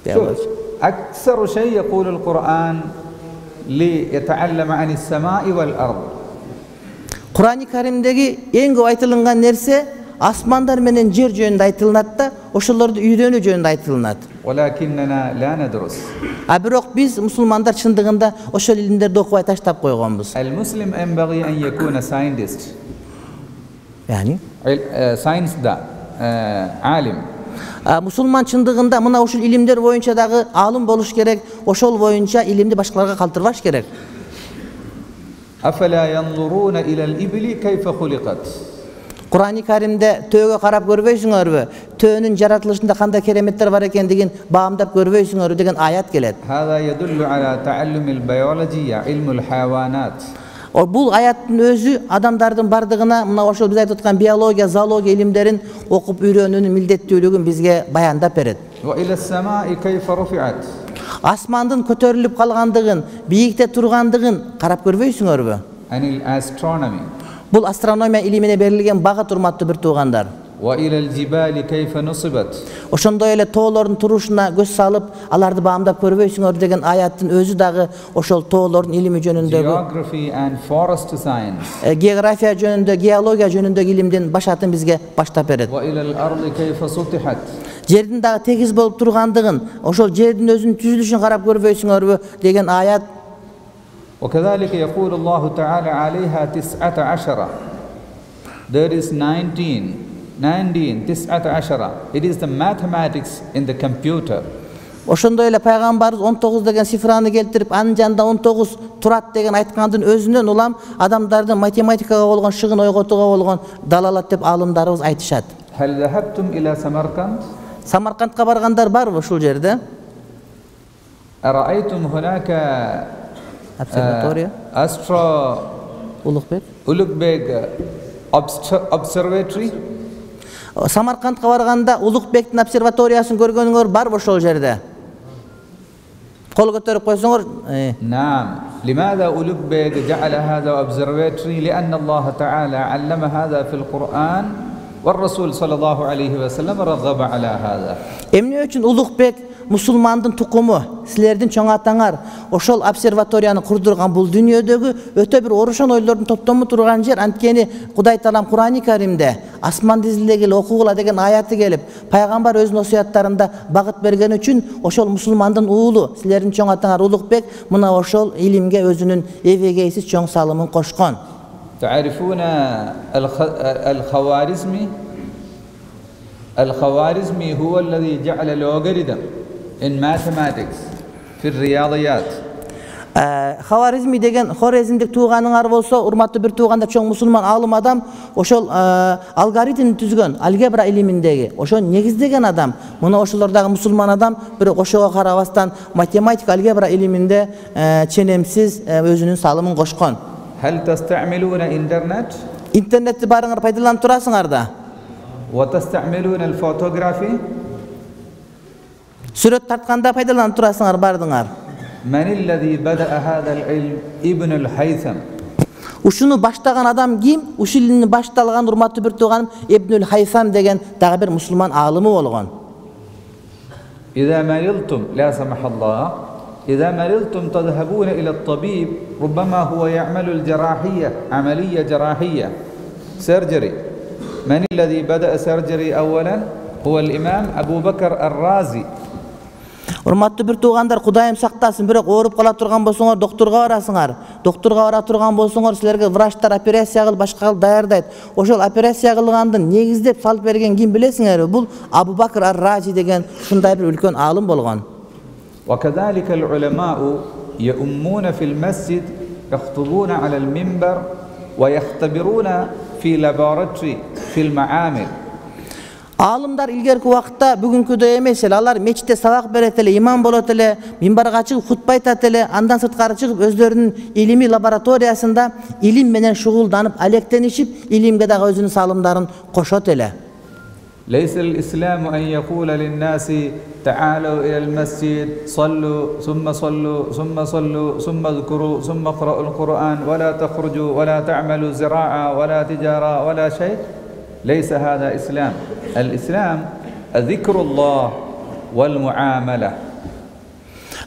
Биология. أكثر شيء يقول القرآن ليتعلم عن السماء والأرض. Kur'an-ı Kerim'deki en көп айтылган нерсе асмандар менен жер жөнүндө айтылынат да, ошолорду үйрөнүү жөнүндө айтылынат. ولكننا لا ندرس. А бирок биз мусулмандар чындыгында ошол илимдерди окубай таштап койгонбуз. المسلم ينبغي أن يكون scientist. Yani science да عالم. Мусулман чындыгында мына ушул илимдер боюнча дагы аалым болуш керек, ошол боюнча илимди башкаларга калтырбаш керек. أفلا ينظرون إلى الإبل كيف خلقت. Kur'an-ı Kerim'de töөгө карап көрбөйсүңөрбү? Төөнүн жаратылышында кандай кереметтер бар экендигин баамдап көрбөйсүңөрбү деген аят келет. هذا يدل على تعلم البيولوجيا علم الحيوانات. Бул аяттын өзү адамдардын бардыгына мына ошол биз айтып аткан биология, зоология илимдерин окуп үйрөнүүнүн милдеттүүлүгүн бизге баяндап берет. وإلى السماء كيف رفعت. Асмандын көтөрүлүп калгандыгын, бийикте тургандыгын карап көрбөйсүңөрбү? عن الأسترونومي. Бул астрономия илимине берилген багыт, урматтуу бир туугандар. وإلى الجبال كيف نصبت. Ошондой эле тоолордун турушуна көз салып, аларды баамдап көрбөйсүңөр деген аяттын өзү дагы ошол тоолордун илими жөнүндөгү Geography and forest science. География жөнүндө, геология жөнүндөгү илимдин башатын бизге баштап берет. وإلى الأرض كيف سطحت. Жердин дагы тегиз болуп тургандыгын, ошол жердин өзүнүн түзүлүшүн карап көрбөйсүңөрбү деген аят. وكذلك يقول الله تعالى عليها تسعة عشر. There is nineteen. nineteen, تسعة عشر. It is the mathematics in the computer. Ошондой эле пайгамбарыбыз он тогуз деген цифраны келтирип, анын жанында он тогуз турат деген айткандын өзүнөн улам адамдардын математикага болгон шыгын ойготууга болгон далалат деп алымдарыбыз айтышат. هل ذهبتم إلى سمرقند؟ Самаркандка баргандар барбы ушул жерде? أرأيتم هناك Обсерватория. أسترو Улукбек. Ulugбек observatory. Самаркандка барганда Улукбектин обсерваториясын көргөнүңөр барбы ошол жерде? Кол көтөрүп койсоңор. نعم. لماذا أولugбек جعل هذا observatory؟ لأن الله تعالى علم هذا في القرآن والرسول صلى الله عليه وسلم رغب على هذا. Эмне үчүн Улукбек мусулмандын тукуму, силердин чоң атаңар ошол обсерваторияны курдурган бул дүйнөдөгү өтө бир орошон ойлордун топтому турган жер. Анткени Кудай Таалам Кур'ан-ы Каримде асманды изилегиле, окугула деген аяты келип, пайгамбар өзүнүн осуяттарында багыт берген үчүн ошол мусулмандын уулу, силердин чоң атаңар Улукбек мына ошол илимге өзүнүн эбегейсиз чоң салымын кошкон. تعرفون الخوارزمي؟ الخوارزمي هو الذي جعل logarithm in mathematics في الرياضيات. Хаваризми деген хорезмдик тууганыңар болсо, урматтуу бир туугандар, чоң мусулман алым адам, ошол алгоритмди түзгөн, алгебра илиминдеги, ошо негиздеген адам. Мына ошолордагы мусулман адам, бирок ошого карабастан математика, алгебра илиминде ченемсиз өзүнүн салымын кошкон. هل تستعملون إنترنت؟ Интернетти барыңар пайдаланып турасыңар да. وتستعملون الفوتوغرافي؟ Сүрөт тартканда пайдаланып турасыңар бардыңар. من الذي بدأ هذا العلم؟ ابن الهيثم. Ушуну баштаган адам ким? Ушул илимни башталган урматтуу бир тууганым Ибнул Хайсам деген дагы бир мусулман аалымы болгон. إذا مرضتم لا سمح الله إذا مرضتم تذهبون إلى الطبيب ربما هو يعمل الجراحية عملية جراحية سيرجري. من الذي بدأ سيرجري أولا؟ هو الإمام أبو بكر الرازي. Урматтуу бир туугандар, Кудайым сактасын, бирок ооруп кала турган болсоңор доктурга барасыңар. Доктурга бара турган болсоңор силерге врачтар операция кылып башка кылып даярдайт. Ошол операция кылгандын негиздеп салып берген ким билесиңерби? Бул Абу Бакр ар-Рази деген ушундай бир үлкөн аалым болгон. وكذلك العلماء يؤمون في المسجد يخطبون على المنبر ويختبرون في لابوراتوري في المعامل. Аалымдар илгерки убакытта бүгүнкүдөй эмес эле. Алар мечитте сабак берет эле, имам болот эле, минбарга чыгып хутба айтат эле, андан сырткары чыгып өздөрүнүн илимий лабораториясында илим менен шугулданып, алектенишип, илимге дагы өзүнүн салымдарын кошот эле. ليس الإسلام أن يقول للناس تعالوا إلى المسجد صلوا ثم صلوا ثم صلوا ثم اذكروا ثم اقرأوا القرآن ولا تخرجوا ولا تعملوا زراعة ولا تجارة ولا شيء. ليس هذا إسلام. الإسلام ذكر الله والمعاملة.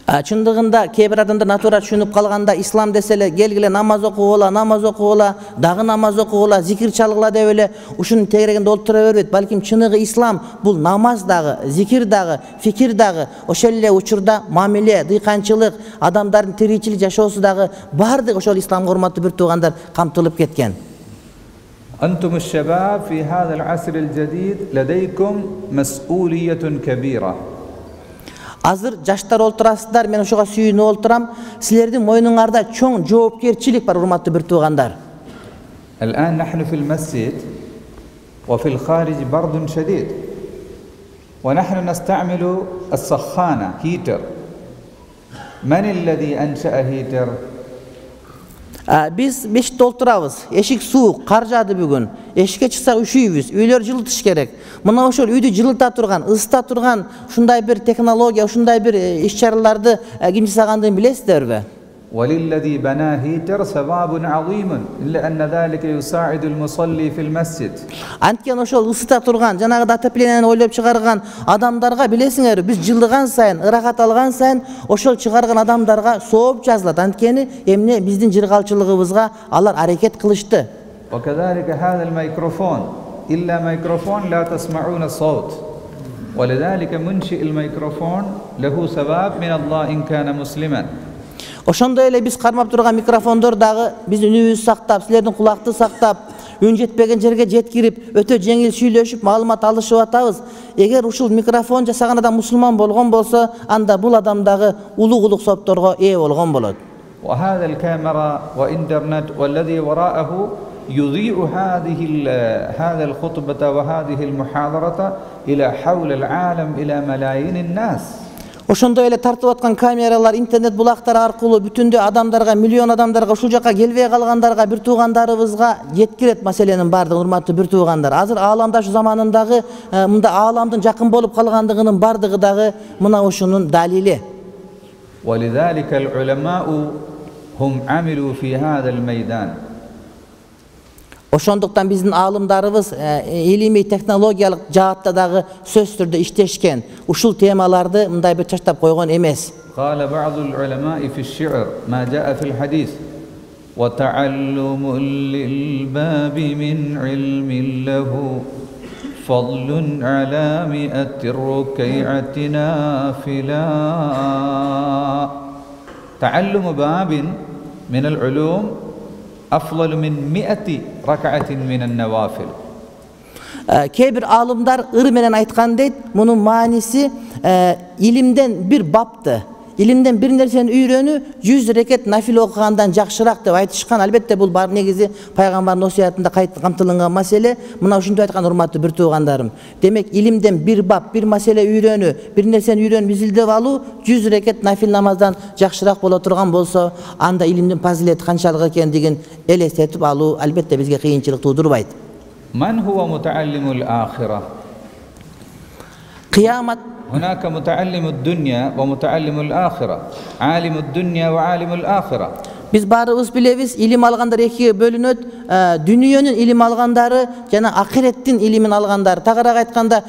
Чындыгында кээ бир адамдар натура түшүнүп калганда ислам десе эле келгиле намаз окугула, намаз окугула, дагы намаз окугула, зикир чалгыла деп эле ушунун тегерегинде олтура бербейт. Балким чыныгы ислам бул намаз дагы, зикир дагы, фикир дагы, ошол эле учурда мамиле, дыйканчылык, адамдардын тиричилик жашоосу дагы баардыгы ошол исламга урматтуу бир туугандар камтылып кеткен. أنتم الشباب في هذا العصر الجديد لديكم مسؤولية كبيرة. Азыр жаштар олтурасыздар, мен ошого сүйүнүп олтурам. Силердин мойнуңарда чоң жоопкерчилик бар, урматтуу бир туугандар. الآن نحن في المسجد وفي الخارج برد شديد ونحن نستعمل السخانة هيتر. من الذي أنشأ هيتر؟ Биз мешитте олтурабыз. Эшик суук, кар жаады бүгүн. Эшикке чыксак үшүйбүз. Үйлөр жылытыш керек. Мына ошол үйдү жылыта турган, ысыта турган ушундай бир технология, ушундай бир иш-чараларды ким жасагандыгын билесиздерби? وللذي بنى هيتر ثواب عظيم إلا أن ذلك يساعد المصلي في المسجد. Анткени ошол ысыта турган, жанагы отоплениени ойлоп чыгарган адамдарга билесиңерби, биз жылыган сайын, ырахат алган сайын ошол чыгарган адамдарга сооп жазылат. Анткени эмне биздин жыргалчылыгыбызга алар аракет кылышты. وكذلك هذا الميكروفون إلا ميكروفون لا تسمعون الصوت. ولذلك منشئ الميكروفون له ثواب من الله إن كان مسلما. Ошондой эле биз кармап турган микрофондор дагы биздин үнүбүздү сактап, силердин кулакты сактап, үн жетпеген жерге жеткирип, өтө жеңил сүйлөшүп, маалымат алышып атабыз. Эгер ушул микрофон жасаган адам мусулман болгон болсо, анда бул адам дагы улугулук сопторго ээ болгон болот. وهذا الكاميرا وإنترنت والذي وراءه يضيء هذه هذا الخطبة وهذه المحاضرة إلى حول العالم إلى ملايين الناس. Ошондой эле тартып аткан камералар, интернет булактары аркылуу бүтүндөй адамдарга, миллион адамдарга, ушул жака келбей калгандарга, бир туугандарыбызга жеткирет маселенин бардыгын, урматтуу бир туугандар. Азыр ааламдаш заманындагы мында ааламдын жакын болуп калгандыгынын бардыгы дагы мына ушунун далили. ولذلك العلماء هم عملوا في هذا الميدان. Ошондуктан биздин аалымдарыбыз илимий технологиялык жаатта дагы сөзсүз түрдө иштешкен. Ушул темаларды мындай бир чачтап койгон эмес. قال بعض العلماء في الشعر ما جاء في الحديث وتعلم للباب من علم له فضل على مئة الركيعة نافلا. تعلم باب من العلوم أفضل من مئة ركعة من النوافل. Кээ бир аалымдар ыр менен айткан дейт, мунун мааниси илимден бир бапты, илимден бир нерсени үйрөнүү жүз рекет нафил окугандан жакшыраак деп айтышкан. Албетте бул бар негизи пайгамбардын осуятында камтылган маселе. Мына ушинтип айткан, урматтуу бир туугандарым. Демек илимден бир бап, бир маселе үйрөнүү, бир нерсени үйрөнүп изилдеп алуу жүз рекет нафил намаздан жакшыраак боло турган болсо, анда илимдин фазилети канчалык экендигин элестетип алуу албетте бизге кыйынчылык туудурбайт. من هو متعلم الآخرة؟ قيامة. هناك متعلم الدنيا ومتعلم الآخرة. عالم الدنيا وعالم الآخرة. Биз баарыбыз билебиз, илим алгандар экиге бөлүнөт. Дүнүйөнүн илим алгандары жана акыреттин илимин алгандар. Тагыраак айтканда,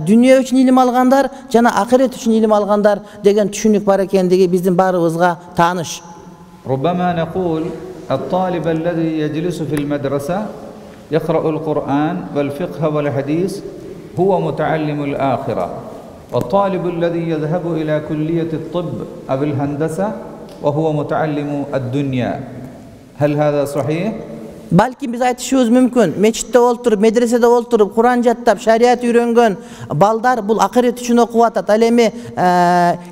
дүнүйө үчүн илим алгандар жана акырет үчүн илим алгандар деген түшүнүк бар экендиги биздин баарыбызга тааныш. ربما نقول الطالب الذي يجلس في المدرسة يقرأ القرآن والفقه والحديث هو متعلم الآخرة. والطالب الذي يذهب إلى كلية الطب أو الهندسة وهو متعلم الدنيا. هل هذا صحيح؟ Балким биз айтышыбыз мүмкүн. Мечитте олтуруп, медреседе олтуруп, Куран жаттап, шарият үйрөнгөн балдар бул акырет үчүн окуп атат. Ал эми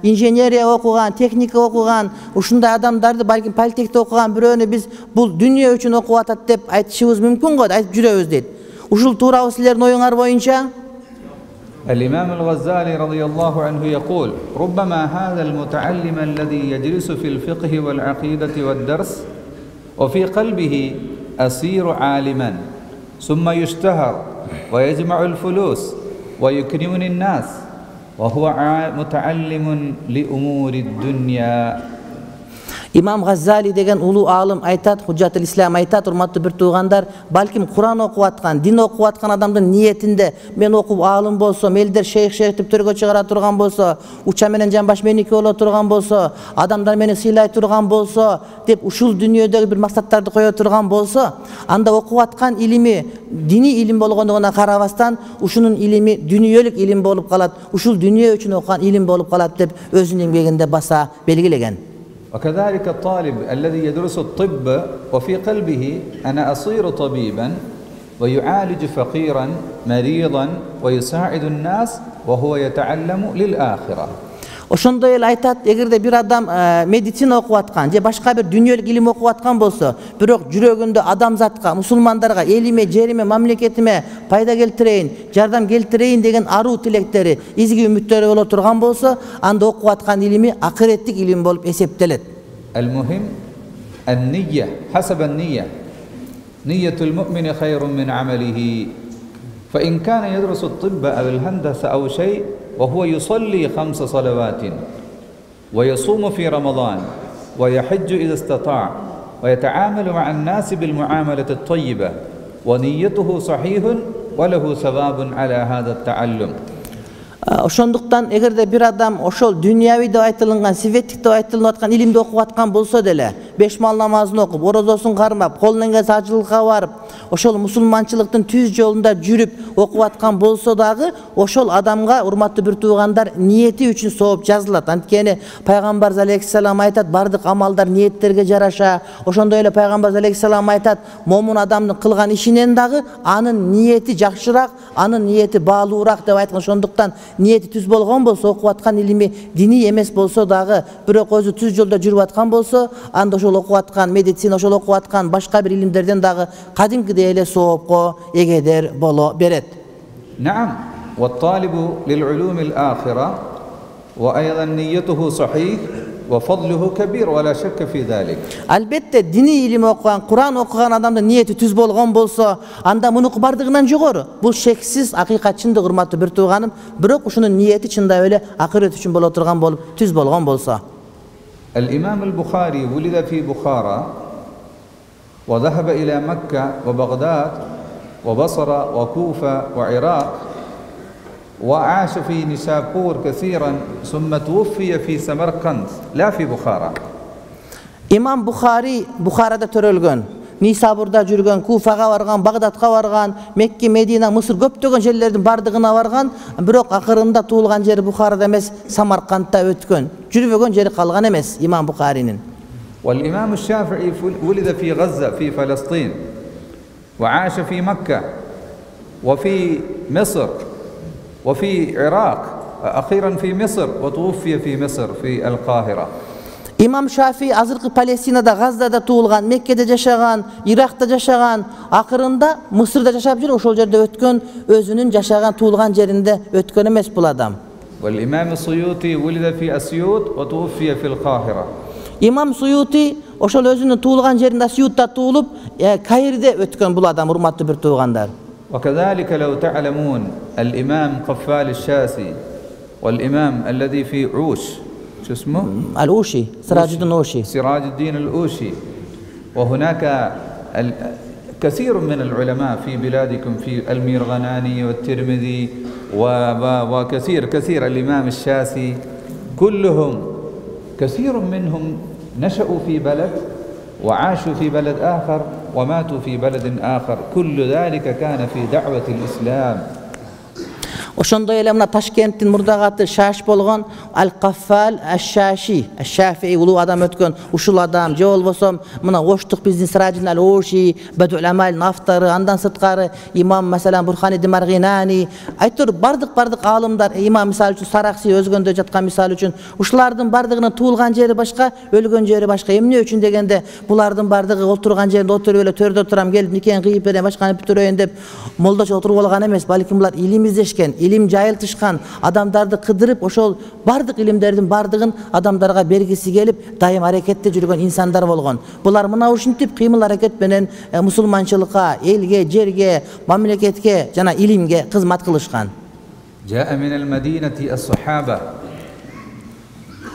инженерия окуган, техника окуган, ушундай адамдарды балким политехте окуган бирөөнү биз бул дүнүйө үчүн окуп атат деп айтышыбыз мүмкүн го, айтып жүрөбүз дейт. Ушул туурабы силердин оюңар боюнча? الإمام الغزالي رضي الله عنه يقول ربما هذا المتعلم الذي يجلس في الفقه والعقيدة والدرس وفي قلبه أصير عالما ثم يشتهر ويجمع الفلوس ويكرم الناس وهو متعلم لأمور الدنيا. Имам Газзали деген улуу аалым айтат, Худжатул Ислам айтат, урматтуу бир туугандар, балким Куран окуп аткан, дин окуп аткан адамдын ниетинде мен окуп аалым болсом, элдер шейх шейх деп төргө чыгара турган болсо, уча менен жамбаш меники боло турган болсо, адамдар мени сыйлай турган болсо деп ушул дүйнөдөгү бир максаттарды кое турган болсо, анда окуп аткан илими диний илим болгондугуна карабастан, ушунун илими дүйнөлүк илим болуп калат, ушул дүйнө үчүн окуган илим болуп калат деп өзүнүн эмгегинде баса белгилеген. وكذلك الطالب الذي يدرس الطب وفي قلبه أنا أصير طبيبا ويعالج فقيرا مريضا ويساعد الناس وهو يتعلم للآخرة. Ошондой эле айтат, эгерде бир адам медицина окуп аткан же башка бир дүйнөлүк илим окуп аткан болсо, бирок жүрөгүндө адамзатка, мусулмандарга, элиме, жериме, мамлекетиме пайда келтирейин, жардам келтирейин деген аруу тилектери, изги үмүттөрү боло турган болсо, анда окуп аткан илими акыреттик илим болуп эсептелет. المهم النية حسب النية نية المؤمن خير من عمله فإن كان يدرس الطب أو الهندسة أو شيء وهو يصلي خمس صلوات ويصوم في رمضان ويحج إذا استطاع ويتعامل مع الناس بالمعاملة الطيبة ونيته صحيح وله ثواب على هذا التعلم. Ошондуктан эгерде бир адам ошол дүйнөви деп айтылган, светтик деп айтылып аткан илимди окуп аткан болсо деле, беш мал намазын окуп, орозосун кармап, колунан келсе ажылыкка барып, ошол мусулманчылыктын түз жолунда жүрүп окуп аткан болсо дагы, ошол адамга, урматтуу бир туугандар, ниети үчүн сооп жазылат. Анткени пайгамбар алейхиссалам айтат, бардык амалдар ниеттерге жараша. Ошондой эле пайгамбар алейхиссалам айтат, момун адамдын кылган ишинен дагы анын ниети жакшыраак, анын ниети баалуураак деп айткан. Ошондуктан ниети түз болгон болсо, окуп аткан илими диний эмес болсо дагы, бирок өзү түз жолдо жүрүп аткан болсо, анда ошол окуп аткан медицина, ошол окуп аткан башка бир илимдерден дагы кадимкидей эле соопко эгедер боло берет. نعم والطالب للعلوم الآخرة وأيضا نيته صحيح وفضله كبير ولا شك في ذلك. Албетте диний илим окуган, Куран окуган адамдын ниети түз болгон болсо, анда мунуку бардыгынан жогору. Бул шексиз акыйкат, чындык, урматтуу бир тууганым, бирок ушунун ниети чындап эле акырет үчүн боло турган болуп, түз болгон болсо. الإمام البخاري ولد في بخارى وذهب إلى مكة وبغداد وبصرة وكوفة وعراق وعاش في نيسابور كثيرا ثم توفي في سمرقند لا في بخارى. Имам Бухари Бухарада төрөлгөн, Нисабурда жүргөн, Куфага барган, Багдадка барган, Мекке, Медина, Мысыр көптөгөн жерлердин бардыгына барган, бирок акырында туулган жери Бухарада эмес, Самаркандта өткөн. Жүрбөгөн жери калган эмес имам Бухаринин. والإمام الشافعي ولد في غزة في فلسطين وعاش في مكة وفي مصر وفي العراق أخيرا في مصر وتوفي في مصر في القاهرة. Имам Шафи азыркы Палестинада, Газдада туулган, Меккеде жашаган, Иракта жашаган, акырында Мысырда жашап жүрүп, ошол жерде өткөн, өзүнүн жашаган, туулган жеринде өткөн эмес бул адам. والإمام السيوطي ولد في أسيوط وتوفي في القاهرة. Имам Суюти ошол өзүнүн туулган жеринде Сиютта туулуп, Каирде өткөн бул адам, урматтуу бир туугандар. وكذلك لو تعلمون الإمام قفال الشاسي والإمام الذي في عوش شو اسمه؟ الأوشي، سراج الدين الأوشي. سراج الدين الأوشي. وهناك كثير من العلماء في بلادكم في الميرغناني والترمذي وكثير كثير الإمام الشاسي كلهم كثير منهم نشأوا في بلد وعاشوا في بلد آخر وماتوا في بلد آخر كل ذلك كان في دعوة الإسلام. Ошондой эле мына Ташкенттин мурдагаты Шаш болгон Ал-Каффал Аш-Шаши, Аш-Шафии улуу адам өткөн ушул адам, же болбосо мына Оштук биздин Сиражин Ал-Оши, Бадул Амалдын автору, андан сырткары имам маселен Бурхани Демаргинани, айтор бардык бардык аалымдар, имам мисалы үчүн Саракси өзгөндө жаткан мисалы үчүн, ушулардын бардыгынын туулган жери башка, өлгөн жери башка. Эмне үчүн дегенде, булардын бардыгы отурган жеринде отуруп эле төрдө турам, келип никени кыйып берем, башканы бүтүрөйүн деп молдочо отуруп алган эмес, балким булар илим издешкен, илим жайылтышкан, адамдарды кыдырып ошол бардык илимдердин бардыгын адамдарга бергиси келип дайым аракетте жүргөн инсандар болгон. Булар мына ушинтип кыймыл аракет менен мусулманчылыкка, элге, жерге, мамлекетке жана илимге кызмат кылышкан. جاء من المدينة الصحابة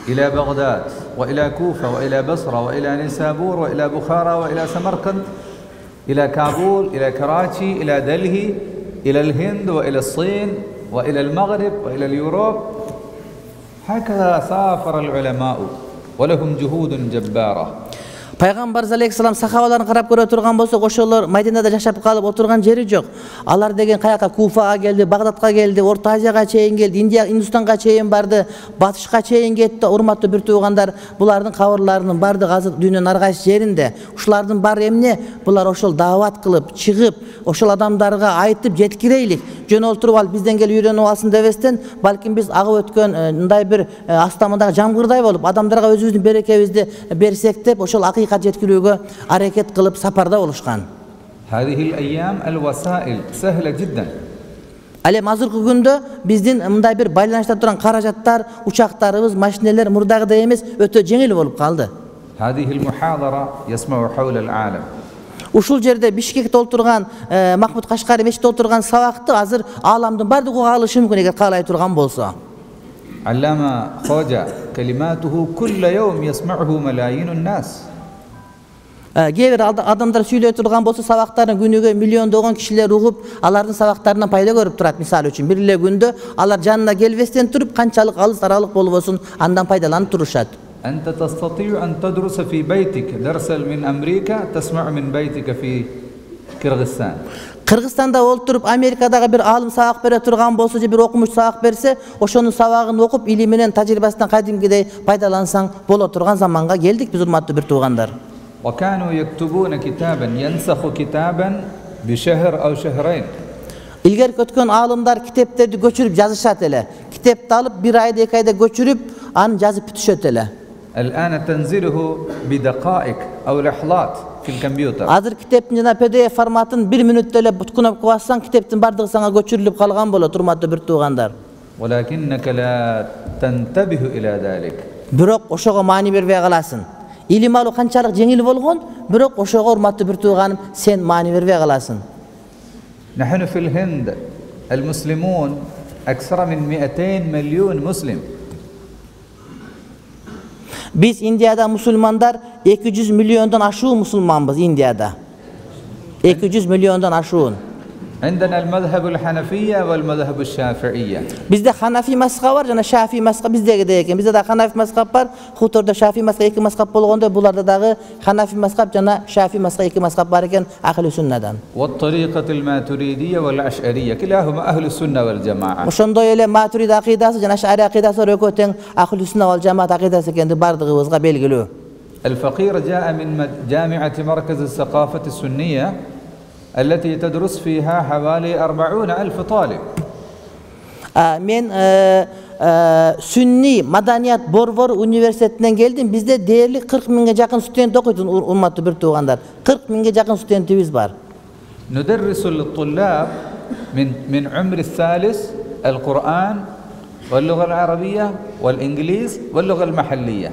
إلى بغداد وإلى كوفة وإلى بصرة وإلى نيسابور وإلى بخارى وإلى سمرقند إلى كابول إلى كراتشي إلى دلهي إلى الهند وإلى الصين وإلى المغرب وإلى اليوروب. هكذا سافر العلماء ولهم جهود جبارة. Пайгамбар алейхиссалам сахабаларын карап көрө турган болсок, ошолор Мадинада жашап калып отурган жери жок. Алар деген каяка Куфага келди, Багдадка келди, Орто Азияга чейин келди, Индия, Индустанга чейин барды, батышка чейин кетти. Урматтуу бир туугандар, булардын кабырларынын бардыгы азыр дүйнөнүн ар кайсы жеринде. Ушулардын баары эмне? Булар ошол даават кылып, чыгып, ошол адамдарга айтып жеткирейли. Жөнөлтүрүп алып бизден келип үйрөнүп алсын дебестен, балким биз агып өткөн мындай бир астамындагы жамгырдай болуп, адамдарга өзүбүздүн берекебизди берсек деп, ошол акыйкат жеткирүүгө аракет кылып сапарда болушкан. هذه الأيام الوسائل سهلة جدا. Ал эми азыркы күндө биздин мындай бир байланышта турган каражаттар, учактарыбыз, машинелер мурдагыдай эмес, өтө жеңил болуп калды. هذه المحاضرة يسمع حول العالم. Ушул жерде Бишкекте отурган Махмуд Кашкари мечитте отурган сабакты азыр ааламдын бардыгы уга алышы мүмкүн эгер каалай турган болсо. علامة خوجة كلماته كل يوم يسمعه ملايين الناس. Кээ бир адамдар сүйлөй турган болсо сабактарын күнүгө миллиондогон кишилер угуп, алардын сабактарынан пайда көрүп турат. Мисалы үчүн бир эле күндө алар жанына келбестен туруп, канчалык алыс аралык болбосун андан пайдаланып турушат. أنت تستطيع أن تدرس في بيتك درسا من أمريكا تسمع من بيتك في كرغستان. Кыргызстанда олтуруп Америкадагы бир алым сабак бере турган болсо же бир окумуш сабак берсе, ошонун сабагын окуп, или менен тажрыйбасынан кадимгидей пайдалансаң боло турган заманга келдик биз, урматтуу бир туугандар. وكانوا يكتبون كتابا ينسخ كتابا بشهر أو شهرين. Илгерки өткөн аалымдар китептерди көчүрүп жазышат эле. Китепти алып бир айда эки айда көчүрүп, аны жазып бүтүшөт эле. الآن تنزله بدقائق أو لحظات في الكمبيوتر. Азыр китептин жана пи ди эф форматын бир мүнөттө эле буткунап бассаң, китептин бардыгы сага көчүрүлүп калган болот, урматтуу бир туугандар. ولكنك لا تنتبه إلى ذلك. Бирок ошого маани бербей каласың. Илим алуу канчалык жеңил болгон, бирок ошого урматтуу бир тууганым, сен маани бербей каласың. نحن في الهند المسلمون أكثر من مئتين مليون مسلم. Биз Индияда мусулмандар эки жүз миллиондон ашуу мусулманбыз Индияда. эки жүз миллиондон ашуун. عندنا المذهب الحنفية والمذهب الشافعية. Бизде Ханафи мазхабы бар жана Шафи мазхабы биздегидей экен. Бизде да Ханафи мазхабы бар, хутордо Шафи мазхабы эки мазхаб болгондой, буларда дагы Ханафи мазхабы жана Шафи мазхабы эки мазхаб бар экен Ахли суннадан. والطريقة الماتريدية والأشعرية كلاهما أهل السنة والجماعة. Ошондой эле Матурид акыйдасы жана Аш'ари акыйдасы экөө тең Ахли сунна вал жамаат акыйдасы экенди бардыгыбызга белгилүү. الفقير جاء من جامعة مركز الثقافة السنية التي تدرس فيها حوالي أربعون ألف طالب. Мен Сүнни Маданият Борбор университетинен келдим. Бизде дээрлик кырк миңге жакын студент окуйт, урматтуу бир туугандар. кырк миңге жакын студентибиз бар. ندرس للطلاب من من عمر الثالث القرآن واللغة العربية والإنجليز واللغة المحلية.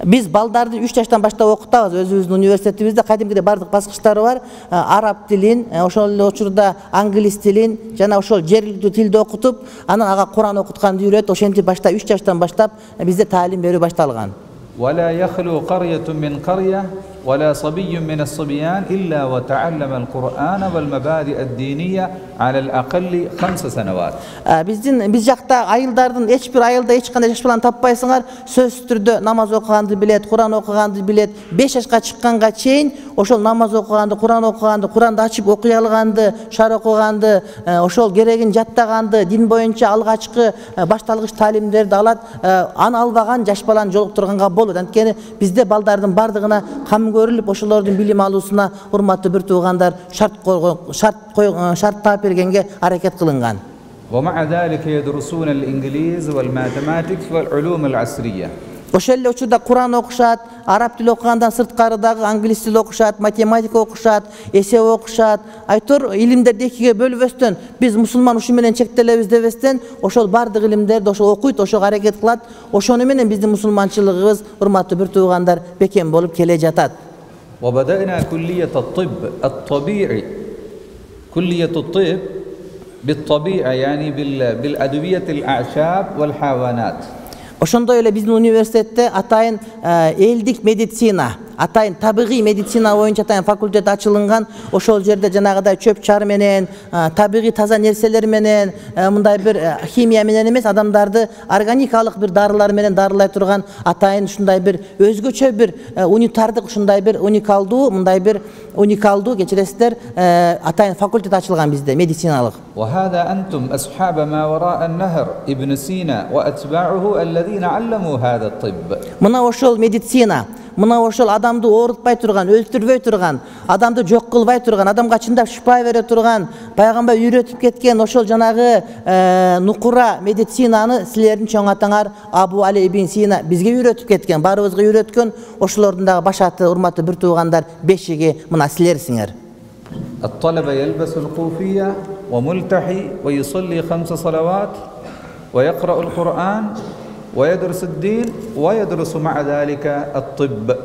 Биз балдарды үч жаштан баштап окутабыз. Өзүбүздүн университетибизде кадимгидей бардык баскычтары бар. Араб тилин, ошол эле учурда англис тилин жана ошол жергиликтүү тилди окутуп, анан ага Куран окутканды үйрөт. Ошентип башта үч жаштан баштап бизде таалим берүү башталган. ولا يخلو قرية من قرية ولا صبي من الصبيان إلا وتعلم القرآن والمبادئ الدينية على الأقل خمس سنوات. Биздин биз жакта айылдардын эч бир айылда эч кандай жаш баланы таппайсыңар, сөзсүз түрдө намаз окуганды билет, Куран окуганды билет. беш жашка чыкканга чейин ошол намаз окуганды, Куран окуганды, Куранды ачып окуй алганды, шар окуганды, ошол керегин жаттаганды, дин боюнча алгачкы башталгыч таалимдерди алат. Аны албаган жаш баланы жолуктурганга болот. Анткени бизде балдардын бардыгына кам көрүлүп, ошолордун билим алуусуна урматтуу бир туугандар шарт койгон, шарт койгон, шарт таап бергенге аракет кылынган. ومع ذلك يدرسون الإنجليز والماثematics والعلوم العصرية. Ошол эле учурда Куран окушат, араб тили окугандан сырткары дагы англис тил окушат, математика окушат, эсеп окушат. Айтор илимдерди экиге бөлбөстөн биз мусулман ушу менен чектелебиз дебестен ошол бардык илимдерди ошол окуйт, ошого аракет кылат. Ошону менен биздин мусулманчылыгыбыз, урматтуу бир туугандар, бекем болуп келе жатат. وبدأنا كلية الطب الطبيعي كلية الطب بالطبيعة يعني بالأدوية الأعشاب والحيوانات. Ошондой эле биздин университетте атайын элдик медицина, атайын табигый медицина боюнча атайын факультет ачылынган. Ошол жерде жанагыдай чөп чар менен, табигый таза нерселер менен, мындай бир химия менен эмес, адамдарды органикалык бир дарылар менен дарылай турган атайын ушундай бир өзгөчө бир унитардык, ушундай бир уникалдуу, мындай бир уникалдуу кечиресиздер, атайын факультет ачылган бизде медициналык. وهذا أنتم أصحاب ما وراء النهر ابن سينا وأتباعه الذين علموا هذا الطب. Мына ошол медицина, мына ошол адамды оорутпай турган, өлтүрбөй турган, адамды жок кылбай турган, адамга чындап шифа бере турган, пайгамбар үйрөтүп кеткен ошол жанагы нукура медицинаны силердин чоң атаңар Абу Али ибн Сина бизге үйрөтүп кеткен, баарыбызга үйрөткөн. Ошолордун дагы башаты, урматтуу бир туугандар, бешиги мына силерсиңер. الطلبة يلبس القوفية وملتحي ويصلي خمس صلوات ويقرأ القرآن ويدرس الدين ويدرس مع ذلك الطب.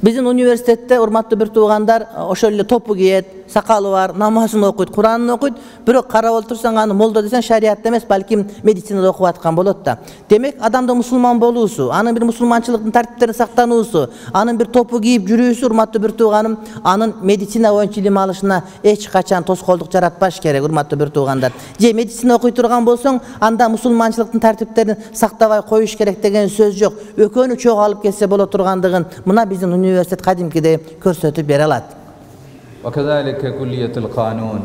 Биздин университетте урматтуу бир туугандар ошол эле топу кийет, сакалы бар, намазын окуйт, Куранын окуйт. Бирок карап отурсаң аны молдо десең шариатта эмес, балким медицинада окуп аткан болот да. Демек адамдын мусулман болуусу, анын бир мусулманчылыктын тартиптерин сактануусу, анын бир топу кийип жүрүүсү, урматтуу бир тууганым, анын медицина боюнча илим алышына эч качан тоскоолдук жаратпаш керек, урматтуу бир туугандар. Же медицина окуй турган болсоң, анда мусулманчылыктын тартиптерин сактабай коюш керек деген сөз жок. Экөөнү чогуу алып келсе боло тургандыгын мына биздин университет кадимкидей көрсөтүп бере алат. وكذلك كلية القانون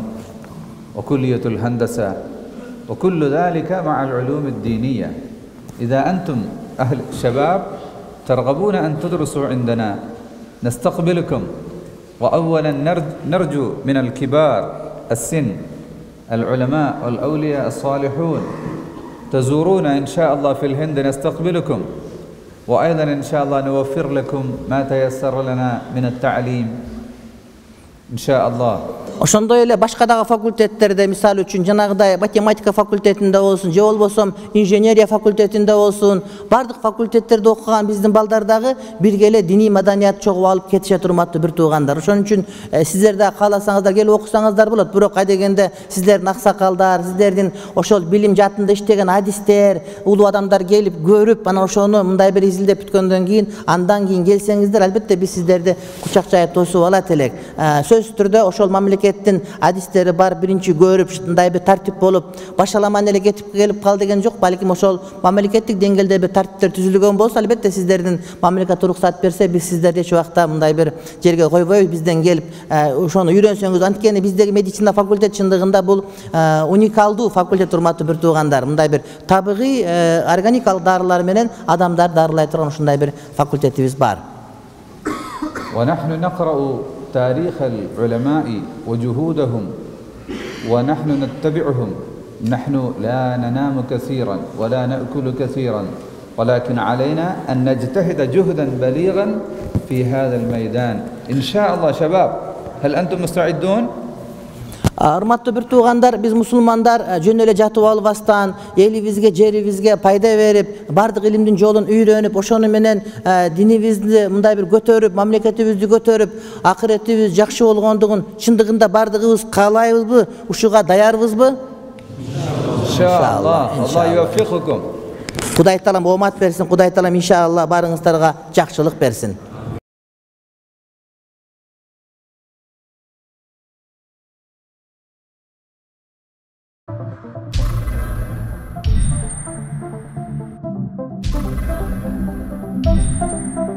وكلية الهندسة وكل ذلك مع العلوم الدينية. إذا أنتم أهل شباب ترغبون أن تدرسوا عندنا نستقبلكم. وأولا نرجو من الكبار السن العلماء والأولياء الصالحون تزورونا إن شاء الله في الهند نستقبلكم. وأيضا إن شاء الله نوفر لكم ما تيسر لنا من التعليم إن شاء الله. Ошондой эле башка дагы факультеттерде, мисалы үчүн жанагыдай математика факультетинде болсун, же болбосо инженерия факультетинде болсун, бардык факультеттерде окуган биздин балдар дагы бирге эле диний маданият чогуу алып кетишет, урматтуу бир туугандар. Ошон үчүн сиздер да кааласаңыздар келип окусаңыздар болот. Бирок кайдегенде сиздердин аксакалдар, сиздердин ошол билим жаатында иштеген адистер, улуу адамдар келип көрүп, анан ошону мындай бир изилдеп бүткөндөн кийин, андан кийин келсеңиздер, албетте биз сиздерди кучак жайып тосуп алат элек. Сөзсүз түрдө ошол мамлекет адистери бар, биринчи көрүп ушундай бир тартип болуп башаламан эле кетип келип кал деген жок. Балким ошол мамлекеттик деңгээлде бир тартиптер түзүлгөн болсо, албетте сиздердин мамлекет уруксат берсе, биз сиздерди эч убакта мындай бир жерге койбойбуз. Бизден келип ошону үйрөнсөңүз, анткени биздеги медицина факультет чындыгында бул уникалдуу факультет, урматтуу бир туугандар. Мындай бир табигый органикалык дарылар менен адамдар дарылай турган ушундай бир факультетибиз бар. ونحن نقرأ تاريخ العلماء وجهودهم ونحن نتبعهم. نحن لا ننام كثيرا ولا نأكل كثيرا، ولكن علينا أن نجتهد جهدا بليغا في هذا الميدان إن شاء الله. شباب، هل أنتم مستعدون؟ Урматтуу бир туугандар, биз мусулмандар жөн эле жатып албастан, элибизге, жерибизге пайда берип, бардык илимдин жолун үйрөнүп, ошону менен динибизди мындай бир көтөрүп, мамлекетибизди көтөрүп, акыретибиз жакшы болгондугун чындыгында бардыгыбыз каалайбызбы? Ушуга даярбызбы? Иншаллах. Алла юваффикукум. Кудай таалам оомат берсин, Кудай таалам иншалла барыңыздарга жакшылык берсин. Thank you.